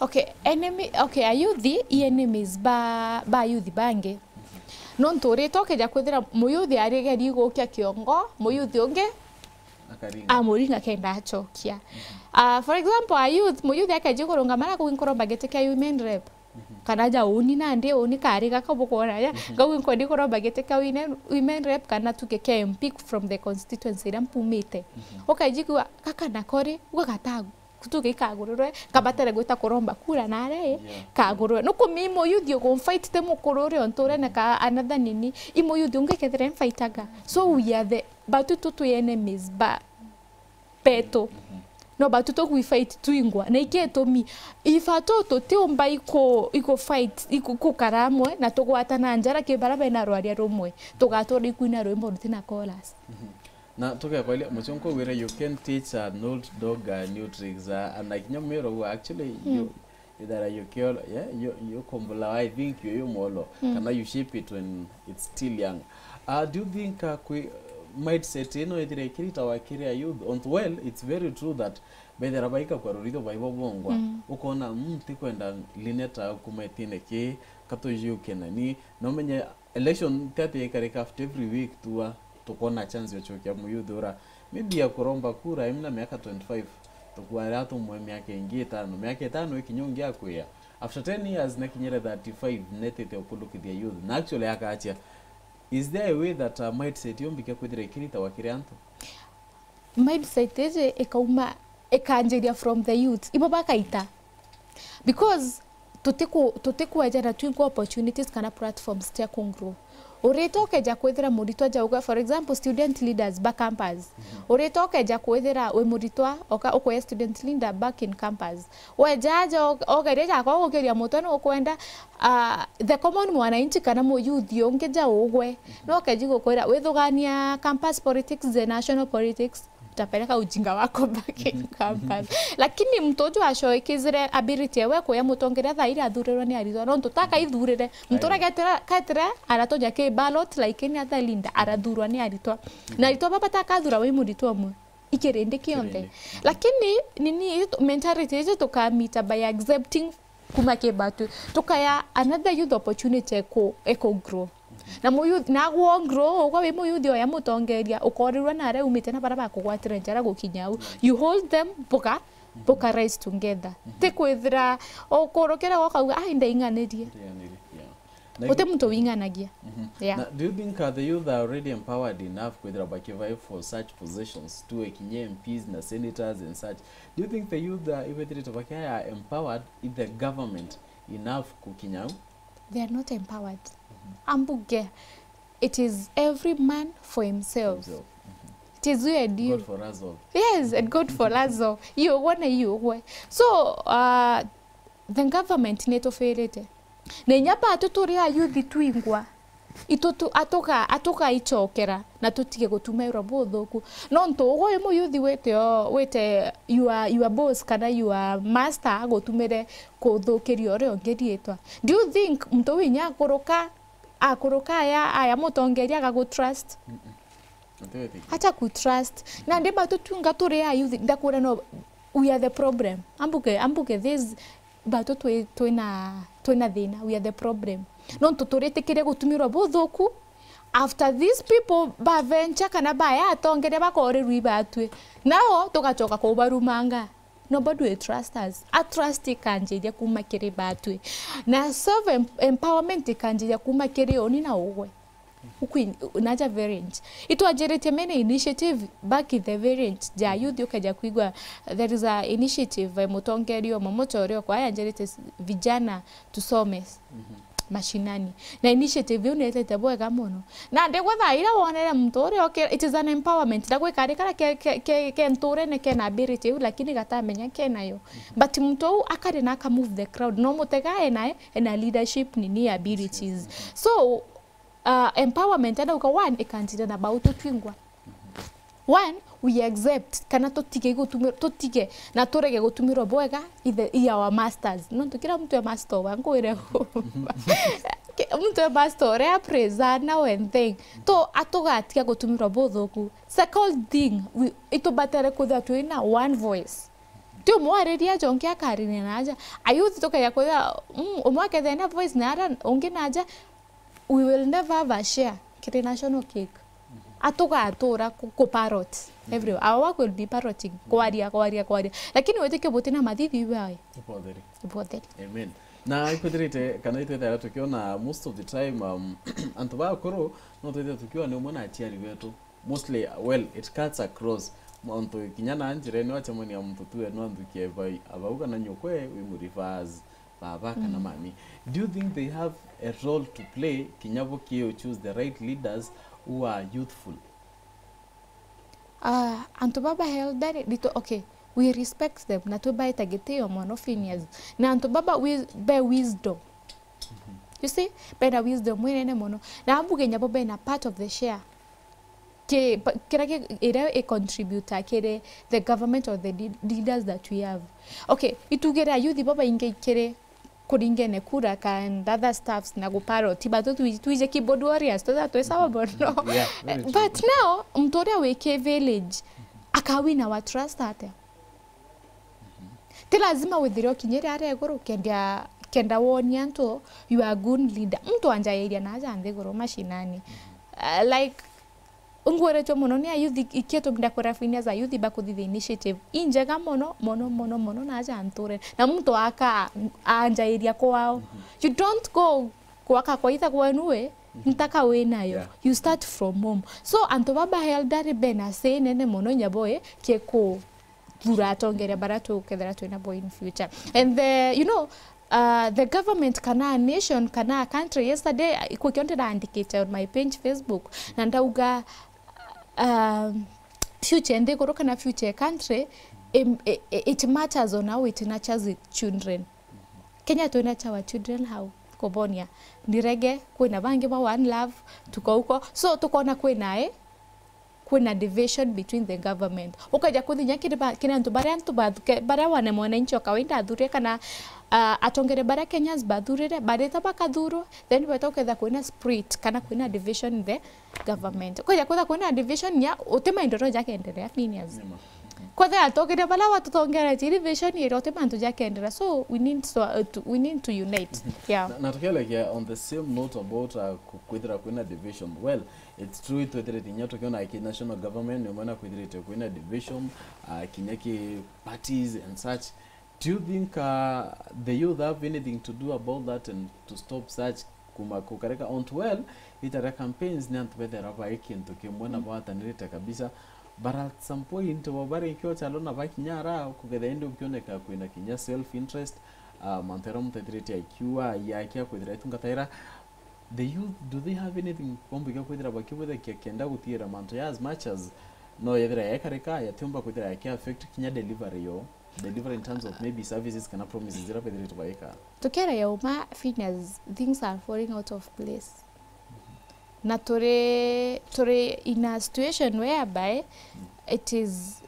Okay, enemy, okay, ayuthi i enemies ba, ba ayuthi bangi. Nontu urita ukeja kwithira muyuthi arigeri gukia kiongo, muyuthi ungi Akaringa. Amuringa kenda acokia. Ah, for example, a youth, muyuthi akeji kurungama na kugi nkuromba giti kia women rep. Kana ja uni nandi uni kari gaka bukwona ja. Ngaugi nkwendi kuromba giti kia women, women rep kana tuge kia M P from the constituency iria mpumite. Ukeji kuga gaka nako ri, uga gatagu. Tuge ikagururwe, kabatere gwita kuromba kura nare, kagururwe. Nuku mi muyuthi ugu mfight ti mukuru uria unturene ka another nini, i muyuthi ungi kethira mfightaga. So we are the, batu tu twi enemies ba betu. No batu tu we fight twingwa. Na iki itumi, ifa tu tutiumba iku, iku fight, iku, kukara amwe, na tugwatana njara ki bara bena rwaria rumwe. Tugatura ikwina rwimbo rutina chorus. Na tugekwaria muchonko wira, you can teach an old dog a new tricks, uh, and like, kinya mwiro uu, actually, you, either you kill, yeah, you, you kombolawa, I think you, you molo, kana you shape it when it's still young. Uh, do you think, uh, kwi, mindset ino ithire ikiritawa kiri a youth? On, well, it's very true that bethira baika kwa rurito baibo bongwa, ukona, mm, tikwenda Lineta kuma itine ki, katujuke nani, no menye election tete ikarika after every week tua, tukona chance ya chokia muyuthi ura maybe ya kuromba kura imna miaka twenty-five, tukwara tumwe miaka ingi itano, miaka itano ikinya ungi akwia. After ten years nekinyire thirty-five, netite ukulukithia youth. Na actually akachia, is there a way that, uh, mindset yombike kwithira ikiritawa kiri antu? Mindset iji ikauma, ikanjiria from the youth. Ibo bakaita. Because tutiku-, tutikwejana twingwa opportunities kana platforms cia ku grow. Urita ukeja kwithira muritwa jauga, for example, student leaders ba campus. Urita ukeja kwithira wi muritwa, oka-, ukwea student leader back in campus. Weja aja, o-, ogeria jakwa gukiria mutwe nukwenda, ah, the common mwananchi kana muyuthi ungi ja ugwe. No keji gukwira, withugania campus politics, the national politics, utapeleka ujinga wako back in campus. Lakini mtu uju acoikizire ability ewe kuya mutongeria thaa iria athurirwe ni aritwa. Nontu taka ithurire. Mtu uria getira, ketire aratonya ki ballot, lakini ata Linda arathurwa ni aritwa. Na aritwa baba takathura wi muritwa umwe. Ikirindi kionthe. Kirindi. Lakini, nini, iji tu-, mentality iji tukamita by accepting kuma ki batwi. Tukaya another youth opportunity eku, eku grow. Na mu youth, na gwo grow, ugwa wi mu youth oya mutongeria, ukorirwa na aria umite na bara bakugwatire njara gukinya au. You hold them, buka, buka rise together. Ti kwithira, ukurukira ukauga, "Ai, ndaing'anirie." Ndaing'anirie, yeah. Guti muntu wing'anagia. Yeah. Na do you think, uh, the youth are already empowered enough kwithira bakivive for such positions, tuwe kinya M Ps na senators and such? Do you think the youth, uh, ibethirite bakia empowered in the government enough kukinya au? They are not empowered. Ambuge, it is every man for himself. Himself. It is weird, you. God for us all. Yes, and God for us all. Iyo ugwe na iyo ugwe. So, uh, the government nitufirite. Na inya batu turi ayuthi twingwa, itu tu-, atuga-, atugaicokera na tutige gutumirwa buthuku. Nontu ugwe wi muyuthi wite o, wite your, your boss kana your master agutumire kuthukiria uria ungi riitwa. Do you think muntu winya akuruka, akuruka aya, aya mutongeria agagutrust? Acha kutrust. Nandi batu twinga turi ayuthi, ndakwira no, we are the problem. Ambuke, ambuke this, batu twi, twina, twina thina, we are the problem. Nontu turitikiria gutumirwa buthuku, after these people bavencha kana baya atongeria bakorirwa ibatwi, nao tugachoka kubarumanga. Nobody will trust us. A trust ikanjiria kuma kiri batwi. Na self em-, empowerment ikanjiria kuma kiri uni na ugwe. Ukwin-, naja variant. Itwanjiritie many initiative back in the variant ja youth, ukeja kwigua there is a initiative, eh, mutongeria umwe muchore okwa yanjirite s-, vijana tusome mashinani. Na initiative iu nietete bwega mono. Na ndigwa thaa iria wonere muntu uria oke-, it is an empowerment. Ndagwikari kara ke, ke, ke, ke nturene kena ability iu, lakini gatamenya kenayo. But muntu uu akari na aka move the crowd. No mutega ena, ena leadership nini abilities. So, uh, empowerment, ndauga one, ikanjira na bau tutwingwa. One, we accept, kana tutige gutumi-, tutige na turege gutumirwa bwega ithe, i our masters. Nontu kila mtu e master wa ngwire. Ki-, mtu e master uria praise na one thing. To atugatiga gutumirwa buthuku. Second thing, we, itubatere kwithirwa twina one voice. Ti umwe ariria aja, ungi akariria na aja. A youth tukeja kwithira, mm, umwe akethira na voice na ara ungi na aja, we will never have a share kiri national cake. Atugatura ku, ku parrot everywhere. Our work will be parroting, kwaria, kwaria, kwaria. Lakini witikie buti na mathithi iwe ai. Ibotheri. Ibotheri. Amen. Na ikwithirite kana itwithaira tukiona most of the time, um, antu bakuru no twithire tukiona ni umwe na aciari betu. Mostly, well, it cuts across. Muntu kinya na njirene wacemania muntu tu enu anthukie bai, abau kana nyukwe wi mu reverse, baba kana mami. Do you think they have a role to play kinya bo ki u choose the right leaders who are youthful? Ah, antu baba elderly, rito, okay, we respect them, na twibaita gitio mono Phineas. Na antu baba wi-, be wisdom. You see? Bena wisdom inene mono. Na ambuge nyabo bena part of the share. Ki, pa, kira ki, iria i contributor kiri the government or the le-, leaders that we have. Okay, itugire ayuthi babaingi kiri kuringene kura ka and other stuffs na guparoti, but tu, twije keyboard warriors, tweza twi sawa mono. Yeah, very true. But now, muntu uria wi ki village, akawina wa trust atia? Ti lazima withire ukinyire aria iguru, kenda, kenda wonie antu, you are a good leader. Muntu anjairia na aja nthiguru mashinani. Uh, like, Ngweretwe mono ni ayuthi, ikio tumenda kwira Phineas ayuthi bakuthithia initiative injega mono, mono, mono, mono na aja nture. Na muntu aka anjairia kwao. You don't go kwaka kwa itha kwenu we, ntaka wi nayo. Yeah. You start from home. So, antu baba elderly bena say nene mono nyabo e, kieku thura atongeria baria tukethira twina bo in future. And the, you know, uh, the government kana a nation kana a country, yesterday, uh, ikukio ndiraandikite on my page Facebook, na ndauga, um, future nthiguru kana future country, im-, i-, i-, it matters on how it nurtures its children. Kenya twi nurture our children how? Kubonia. Ndirege, kwina bangi ba One Love, tukauko. So, tukona kwina i, kwina division between the government. Ukaja kuthinya kiri ba-, kiri antu baria antu bathuke, baria wana mwananchi wa kawaida athurire kana, ah, atongere baria Kenyans bathurire, barita bakathurwa, then beta uketha kwina split kana kwina division in the government. Ukaja kwetha kwina division ya uti maendeleo jakendelea Phineas. Nima. Kwetha atongere baria batutongeretie division ira uti mantu jakendelea. So we need to, uh, to, we need to unite. Yeah. Na, na tukielekia on the same note about, uh, ku-, kwithira kwina division. Well, it's true, itwethirite inya tukiona ki national government, ni mwana kwithirite kwina division, uh, kinya ki parties and such. Do you think, uh, the youth have anything to do about that and to stop such kuma kukareka ontu? Well, ita ria campaigns ni antu bethera bai kintu kimwe na batanirite kabisa. But at some point, bo bari kio chalo na bakinya ara, kukethira indi ukioneka kwina kinya self interest, uh, mantu era muntu ethirite akiua, yakia kwithira itungataira, the youth, do they have anything bombiga kwithira bakibwithakia kenda gutiira mantu ya as much as no yethira yekarika, yatiumba kwithira yaki affect kinya delivery yo, delivery in terms of maybe services kana promises ira bethiritwe baika? Tukiaria uma, Phineas, things are falling out of place. Na turi, turi in a situation whereby it is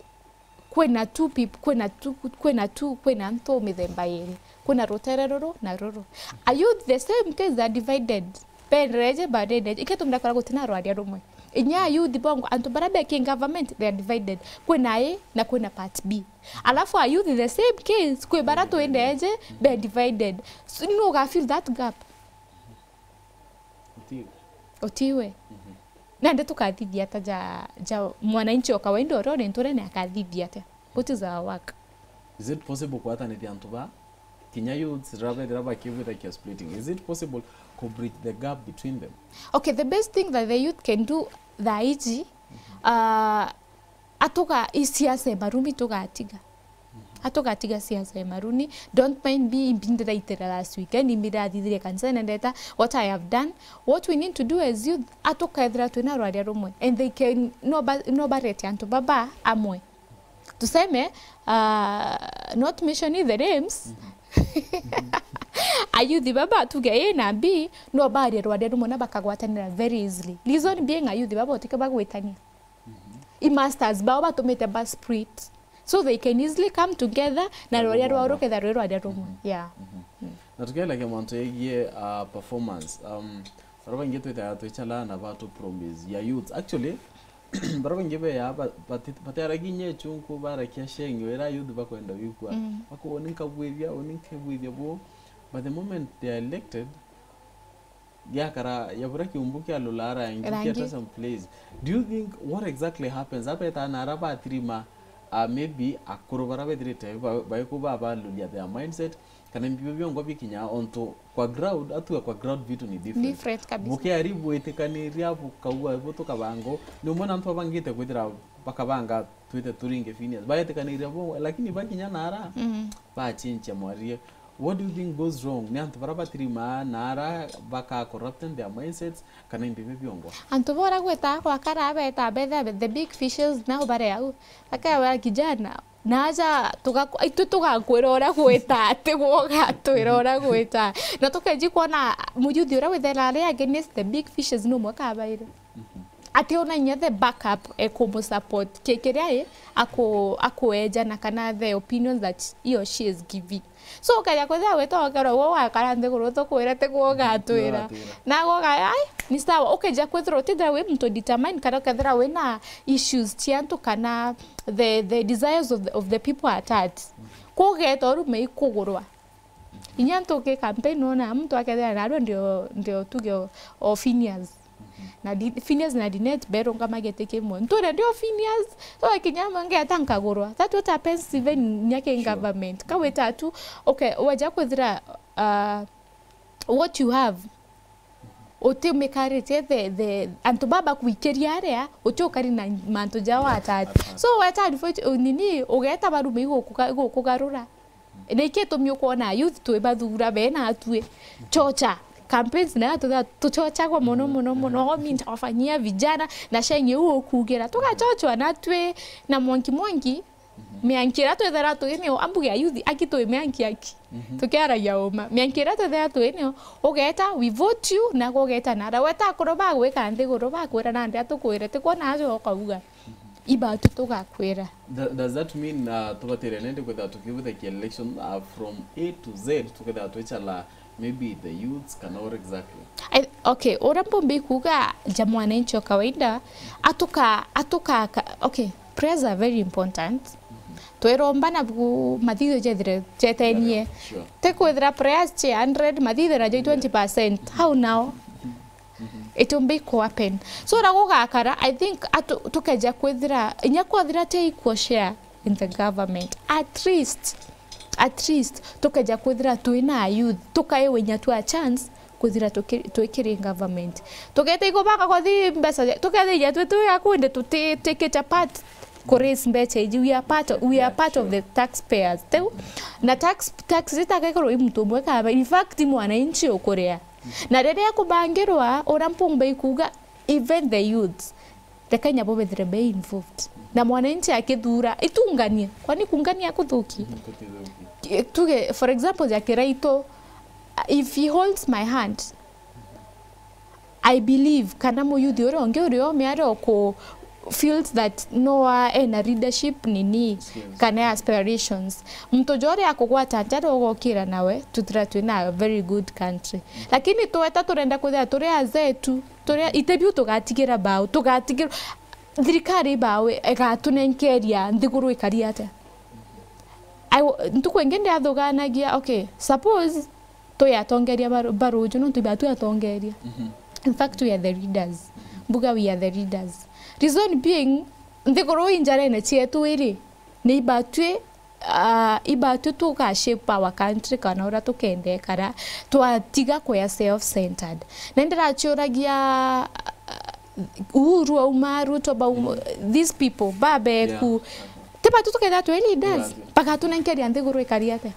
kwina two peop-, kwina two, kwina two, kwina antu mithemba iri. Kwina rutere ruru na ruru. A youth the same case, they are divided. Bendereje, badendereje. Iketumira kora gutina rwaria rumwe. Inya a youth bongo, antu baria be ki government, they are divided. Kwina A na kwina part B. Alafu a youth the same case, kwi baria twendereje, be divided. So, nu uga fill that gap? Utiwe. Utiwe. Mhm. Nandi tukathithia ata ja, ja mwananchi o kawaida uria uri nturene akathithia atia? What is our work? Is it possible kwatanithia antu ba kinya youths riria bethira bakibwithakia splitting? Is it possible ku bridge the gap between them? Okay, the best thing that the youth can do thaa iji, uh, atuga, i siasa e marumi tugatiga. Atugatiga siasa e maruni. Don't mind me, imbi ndiraitira last weekend, imbi ndirathithirie kanisa na ndeta what I have done. What we need to do as youth, atukethira twina rwaria rumwe. And they can, no ba-, no barete antu baba amwe. Tuseme, uh, not mentioning the names. Ayuthi baba tuge A na B, no barie rwaria rumwe na bakagwatanira very easily. Reason being, ayuthi baba utike bagwitania. I masters bao batumite ba split. So they can easily come together na rwaria rwao ruketha rwi rwaria rumwe. Yeah. Na tukielekia mantu yegie, uh, performance, um, baria baingi twithaga twichala na batu promise ya youth. Actually, bara baingi beya ba-, bati-, batiaragia inya echunku, barakia sheng, ira youth bakwenda wikua. Mm. Bakuga, "Uni nkabwithia, uni nkabwithia bu." But the moment they are elected, giakara, yabura kiumbu kia lula rangi, rangi. Kiata some place. Do you think what exactly happens? Abeta na ara batirima, uh, maybe akuru bara bethirite ba-, baiku babaluria their mindset, kana mbio biongwa bikinya onto kwa ground, atua kwa ground vitu ni different. Different kabisa. Bukiari bwitikaniria bukaua butukabango, ni umwe na antu abangite kwithira bakabanga twite turinge Phineas. Baetikaniria bo, lakini bakinya nara, mm, bachinchia mwarie. What do you think goes wrong? Ni antu bara batirimaa na ara baka corrupting their mindsets, kana imbi biongwa? Antu bora gwita kwa kara beta betha the big fishes nao bare au. Akawa kijana, naja tuga-, itu tugakwira uria gwita, ati gwoga twira uria gwita. Na tukeji kwona muyuthi uria withera ari against the big fishes no mwaka abaire. Mhm. Ati ona inya the backup e kumusupport ki-, kiria i aku-, akuejana kana the opinions that he or she is giving. So ukeja kwithira witokerwa uguo ugakara nthiguru tukwira ti gwo ugatwira. Ugatwira. Na gwo uga-, ai, ni sawa. Ukeja kwithira utithira wi muntu determined kana ukethira wina issues cia antu kana the, the desires of the, of the people at heart. Kugeta urume ikugurwa. Inya ntuki campaign nona muntu akethira narua ndio, ndio tuge o, o Phineas. Mhm. Na Di-, Phineas na Linet berungama giti kimwe. Nturia ndio Phineas, so kinya amwe ngeta nkagurwa. That what happens even nyake in, sure, government. Kawita tu, okay, waja kwithira, uh, what you have, uti umikaritie the, the, antu baba kwikiria aria, uti ukari na mantu jao atati. Atati. So weta advocate, nini, ugeta barume igukuga-, igukugarura. Na iki itumi ukwona youth twi bathura be na atui. Chocha. Campaigns na tuthira tuchochagwa mono, mono, mono. "Oh, mi nitawafanyia vijana, na sheng iu ukugira." Tugachochwa na twi na mwanki mwanki. Mhm. Mianki iria twithira twinio, ambuge ya youth, aki twi mianki aki. Mhm. Tukiaragia uma. Mianki iria twithira twinio, ugeta, we vote you, na ugeta nara. Weta akuru bagwika nthiguru, bakwira nandi atukwire, ti kwona aja ukauga. Ibatu tugakwira. Th-, does that mean, uh, tubatire nende kwithira tukibuthakia election, uh, from A to Z, tukethira twichala maybe the youths kana or exactly? I, okay, uria mbumbi kuga ja mwananchi wa kawaida, atuka, atuka, ka-, okay, prayers are very important. Mhm. Twiromba na bu-, mathitho jethire jetenie. Yeah, sure. Ti kwithira prayers chi hundred, mathitho najo i twenty percent. How now? Mhm. It will be ku happen. So, uria gugakara, I think, atu-, tukeja kwithira, inya kwathira ti equal share in the government. At least, at least, tukeja kwithira twina youth, tukaiwe inya tu a chance, kwithira tuki-, twikiri government. Tugeta igobaka kwathi mbeca, tukethira twi, twi akundi tuti, tutikite part ku raise mbeca iji, we are part of, we are part of the taxpayers. Teu, na tax, tax itagekorwo i muntu umwe kaba, in fact, mwananchi ukuria. Na riria kubangirwa, uria mpumba ikuga, even the youths, reke inya bo bethire be involved. Na mwananchi akithura, itunganie. Kwani kungania kuthuki? Mhm, kuthuki. Ki-, tuge, for example, ja Kiraitu, if he holds my hand, I believe, kana muyuthi uria ungi uria ome aria uku feels that no wa ena leadership nini, skills, kana aspirations. Muntu ja uria akugwata nja ugokira nawe, tuthira twina a very good country. Lakini tweta turenda kwithira turi azee tu, turia, ite biu tugatigira bau, tugatigira, thirikari bau igatunenkeria nthiguru ikari atia? I w-, ntuku ingi ndiathuganagia, okay, suppose twi atongeria ba, ba ruju, nontu iba twi atongeria. Mhm. In fact, we are the leaders. Mhm. Mbuga we are the leaders. Reason being, nthiguru i njarene cietu iri, ni iba twi, ah, iba twi tuga shape our country kana uria tukenda ikara, twatiga kwia self-centered. Na ndiraciuragia, ah, Uhuru auma, Ruto bauma, these people, babeku. Yeah. Ti batu tukethira twi leaders, bagatunenkeria nthiguru ikari atia?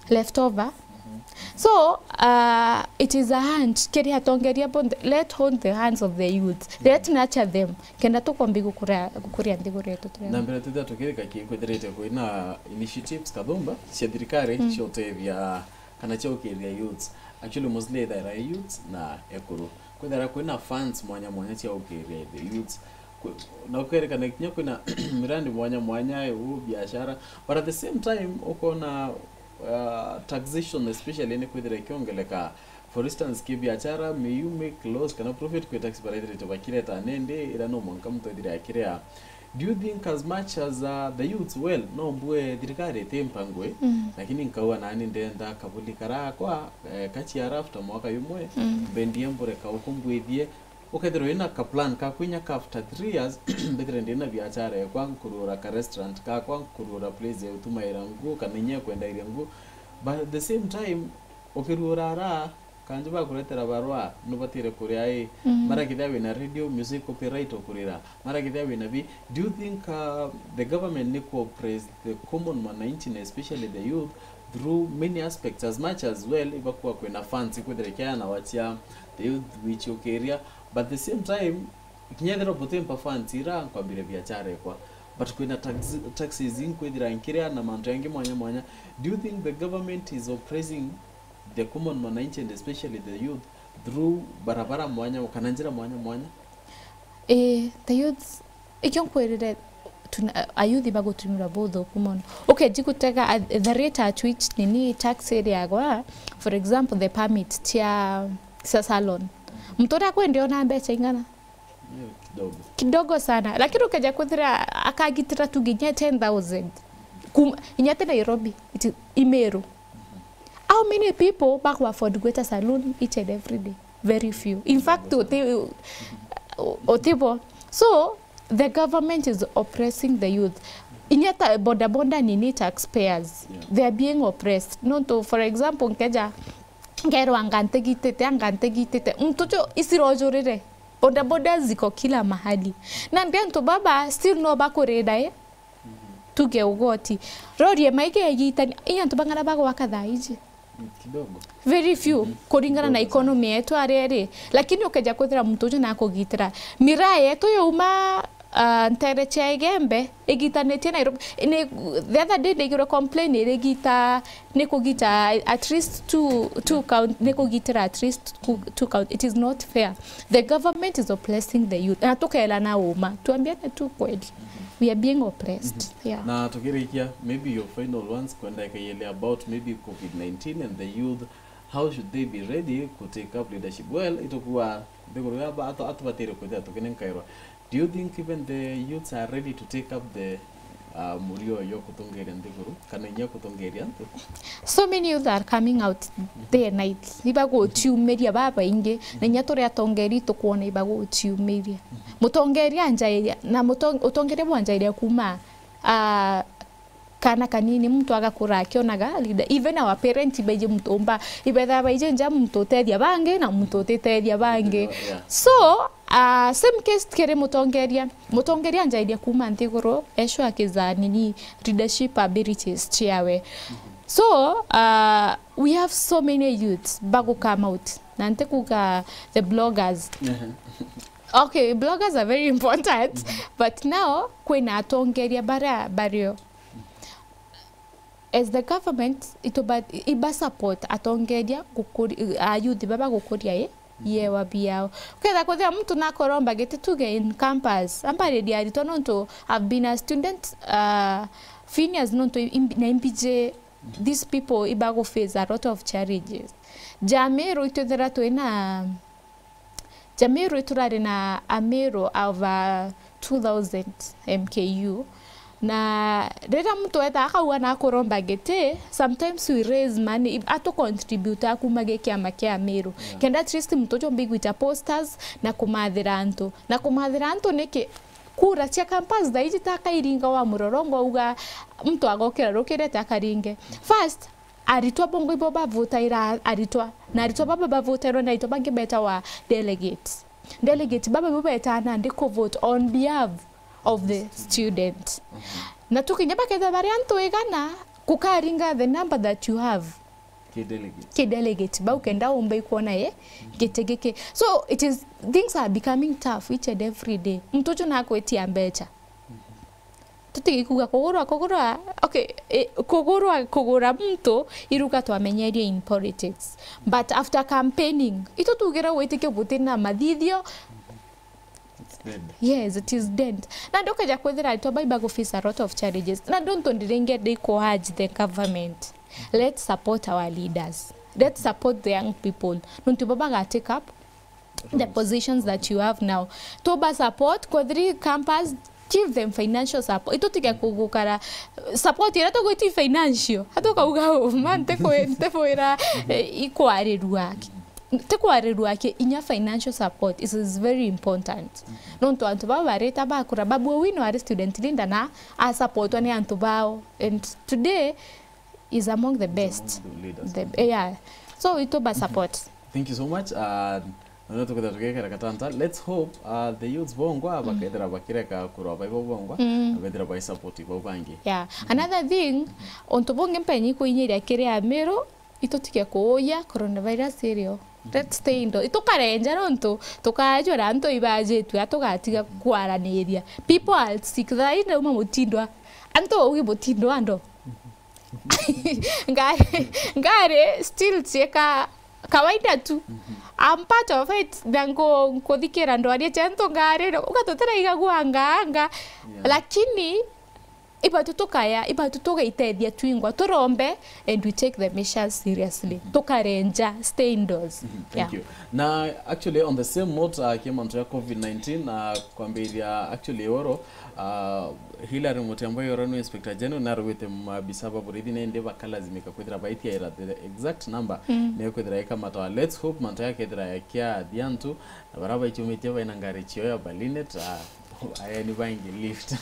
Left over. Mhm. So, uh, it is a hand, kiri atongeria bonthe, let hold the hands of the youth. Let nurture them. Kenda tukombi gukuria, gukuria nthiguru yetu turi. Na mbere twithira tukirika ki kwithirite kwina initiatives kathumba cia thirikari, mm, cia utethia kana cia ukiria youths. Actually, mostly ithira youths na ekuru. Kwithira kwina funds mwanya mwanya cia ukiria the youths. Kwi-, na kukerekana kinya kwina mirandi mwanya mwanya, u biashara. But at the same time, ukona, uh, taxation especially ni kwithira ikiongeleka. For instance, ki biachara, may you make loss kana profit kwi tax baraithirite bakireta nindi ira no mwanka muntu ethire akiria. Do you think as much as, uh, the youths, well, no mbue thirikari iti mpango ii, mm, lakini nkauga nani ndenda kabuli karakwa, eh, ka C R after mwaka yumwe, mm, mbendie mbure kauku mbwithie, ukethirwa wina ka plan kaku inya ka after three years, mbethire ndina biachara ekwa, nkurura ka restaurant kakwa, nkurura place ya utumaira ngu, kana inya kwendairia ngu. But at the same time, ukirura ara, kanju bakuretera barua, nubatire kuria ii. Mm. Mara kethia wina radio, music copyright ukurira. Mara kethia wina bi, do you think, uh, the government ni ku oppress the common mwananchi, na especially the youth, through many aspects, as much as well, ibakua kwina funds, ikwithira ikiana wachia the youth wichiukiria, but the same time, kinya ethirwa butimpa funds ira nkwambire biachara ekwa, but kwina tax-, taxes inkwithira nkiria na mantu yangi mwanya mwanya. Do you think the government is oppressing the common mwananchi and especially the youth through barabara mwanya kana njira mwanya mwanya? Eh, the youth, ikio nkwirire, tuna-, ayuthi bagutumira buthuku mono. Ukeji gutega, uh, the rate at which nini tax iriagwa, for example, the permit cia, cia salon. Muntu uria akwendia ona mbeca ing'ana? Eh, kidogo. Kidogo sana. Lakini ukeja kwithira akagitira tu nginya ten thousand. Kum-, inya te Nairobi, it is Imeru. How many people baku afford gwita saloon each and every day? Very few. In fact, uti-, utibo. So, the government is oppressing the youth. Inya ta boda boda nini taxpayers. Yeah. They are being oppressed. Nontu, for example, nkeja, nkerwa anga ntegitite, anga ntegitite. Muntu ucio isirojurire. Boda boda ziko kila mahali. Na ndi antu baba still no bakurira, eh? Tuge ugoti. Rori ema igegitania, inya antu bang'ana bagwaka thaa iji. Mm, kidogo. Very few, mhm, kuringana na, kidogo sana, economy yetu aria iri. Lakini ukeja kwithira muntu ucio nakugitira. Miraa yetu yuma, ah, ntere cia Igembe, igitanitie Nairobi. Ni, the other day ndaigirwe complain irigita, ni kugita at least two, two count, ni kugitira at least two, two count. It is not fair. The government is oppressing the youth. Na tukeerana uma. Tuambiane tu kweli. We are being oppressed. Mhm. Yeah. Na tukirikia, maybe your final ones, kwenda ikaielea about maybe covid nineteen and the youth, how should they be ready to take up leadership? Well, itukua nthiguru ya ba-, atu-, atubatire kwithira tukinenkairwa. Do you think even the youths are ready to take up the, uh, murio yo kutongeria nthiguru, kana inya kutongeria antu? So many youth are coming out day and night. Ibagutiumiria babaingi, na inya turi atongeri tukwona ibagutiumiria. Mutongeria anjairia, na mutong-, utongeria bwanjairia kuma, ah, kana kanini, muntu agakura akionaga leader. Even our parents ibaiji muntu umba, ibetha baiji nja muntu utethia bangi na muntu utitethia bangi. Yeah. So, ah, same case kiri mutongeria. Mutongeria anjairia kuma nthiguru, eshwa akiza nini, leadership abilities ciawe. So, ah, we have so many youths bagu come out. Na ntikuga the bloggers. Ehe. Okay, bloggers are very important, mhm, but now kwina atongeria baria bario. As the government, ituba-, iba support atongeria gukuri-, a youth baba gukuria i, mhm, iewa biao. Ukethira kwithira muntu nakoromba giti tuge in campus, ambariria aritwa nontu I've been a student, uh, Phineas nontu imbi-, na imbiji, mhm, these people iba gu face a lot of challenges. Jamiru itwithira twina Jamiru turari na Amiru over two thousand M K U. Na riria muntu weta akauga na akuromba giti, sometimes we raise money, atu contribute kuma gi kiama kia Amiru. Yeah. Kenda at least muntu ucio mbigwita posters na kumathira antu. Na kumathira antu niki? Kura cia campus thaa iji takairinga wa murorongo auga muntu agokira rukirete akaringe. First, aritwa bongo ibo bavutaira aritwa, na aritwa baba bavutairwa na aritwa bangi betawa delegates. Delegate baba ibo betaa nandi ku vote on behalf of the student. Mhm. Na tukinya bakethira bari antu igana, kukaringa the number that you have. Ki delegate. Ki delegate, bau kenda umbe ikwona, eh, giti giki. So, it is, things are becoming tough each and every day. Muntu ucio nakwitia mbecha. Mhm. Tutigi kuga kugurwa, kugurwa, okay, eh, kugurwa, kugura muntu, iruga twamenyerie in politics. But after campaigning, itu tugire gwitikia buti na mathithio. It's dead. Yes, it is dead. Na ndukeja kwithira aritwa bai bagu face a lot of challenges. Na nduntu ndiringe ndi ku urge the government. Let's support our leaders. Let's support the young people. Nontu bo baga take up the positions that you have now. Tuba support, kwa three campus, give them financial support. Itutige kugukara support ira tugwiti financial. Atukauga, "Oh, man, ntikwi-, ntikwira, eh, ikwarirua." Ntikwarirua ki, inya financial support is, is very important. Nontu antu baba barita bakura, Babu Owino ari student leader na asupportwa ni antu bao. And today is among the best. Among the leaders. The, yeah. So, ituba support. Thank you so much. Uh, na tukwenda tugekera katanta. Let's hope, uh, the youths bongwa bakethira bakireka kurwa baibo bongwa, na bethira bai support bau bangi. Yeah. Another thing, untu bungi mpenyi kuinyiria kiri Amiru, itutige kuuya coronavirus irio. Let's stay indoors. Itukarenja nontu tukajua na antu ibajitwe, atugatiga kwaraniria. People are sick. Thaa ii ndauma mutindwa. Antu ugi mutindwa ando. Ngari, ngari still cieka kawaida tu. I'm part of it. Na nku-, nkuthikira ndwaria cia antu ngari, uga tutiraigagua anga, anga. Yeah. Lakini ibatu tukaya, ibatu tugaitethia twingwa, turombe, and we take the measures seriously. Tukarenja, stay indoors. Thank you. Na actually, on the same note, uh, kia mantu ya covid nineteen, uh, kwambiria actually oro, uh, Hilary Mutyambwa oro ni Inspector General, narugite mabisa ba borithi nende bakalazimika kwithira baitiaira the exact number, ni kwithira ikamatwa. Let's hope mantu yakethira yakia thiantu, na bara baichumitie baina ngari cio ya Berlinet, uh, Aya ni baingi lift.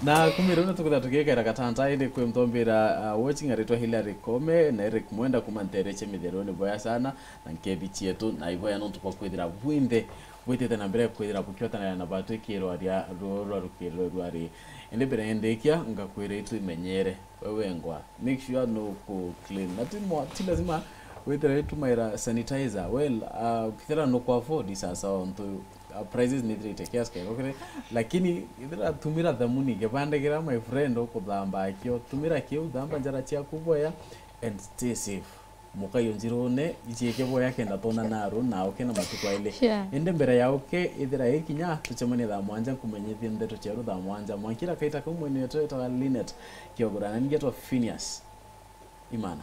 Na kumira una tukwenda tugikera gatanta indi kwi mtombira, uh, watching aritwa Hilary Kome na Eric Mwenda kuma ntere cia mitheroni boya sana na nkethi cietu na iboya nontu bwa kwithira bwinthe bwitite na mbere kwithira bukiotana na batwikirwa ria ruru rwa rukiriro rwari. Indi mbere ndikia ngakwira itu imenyere. Wewe ngwa, make sure no ku clean. Na ti mwa-, ti lazima withira itumaira sanitizer. Well, uh, kithira no ku afford sasa ontu, uh, prices ni three kiasi kego kire. Lakini ithira tumira thamuni, kibande kira my friend ukuthamba akio, tumira kiu, thamba njara ciaku boya and stay safe. Mukayo njirune, iciike boya kenda tona naru na uke na matuku aili. Sure. Indi mbere ya uke, ithira ikinya, tucemanie thaa mwanja nkumenyithie ndeto cieru thaa mwanja. Mwankira kaita kau mwene wetu wetagwa Linet Kiogora, na ningetwa Phineas Imana.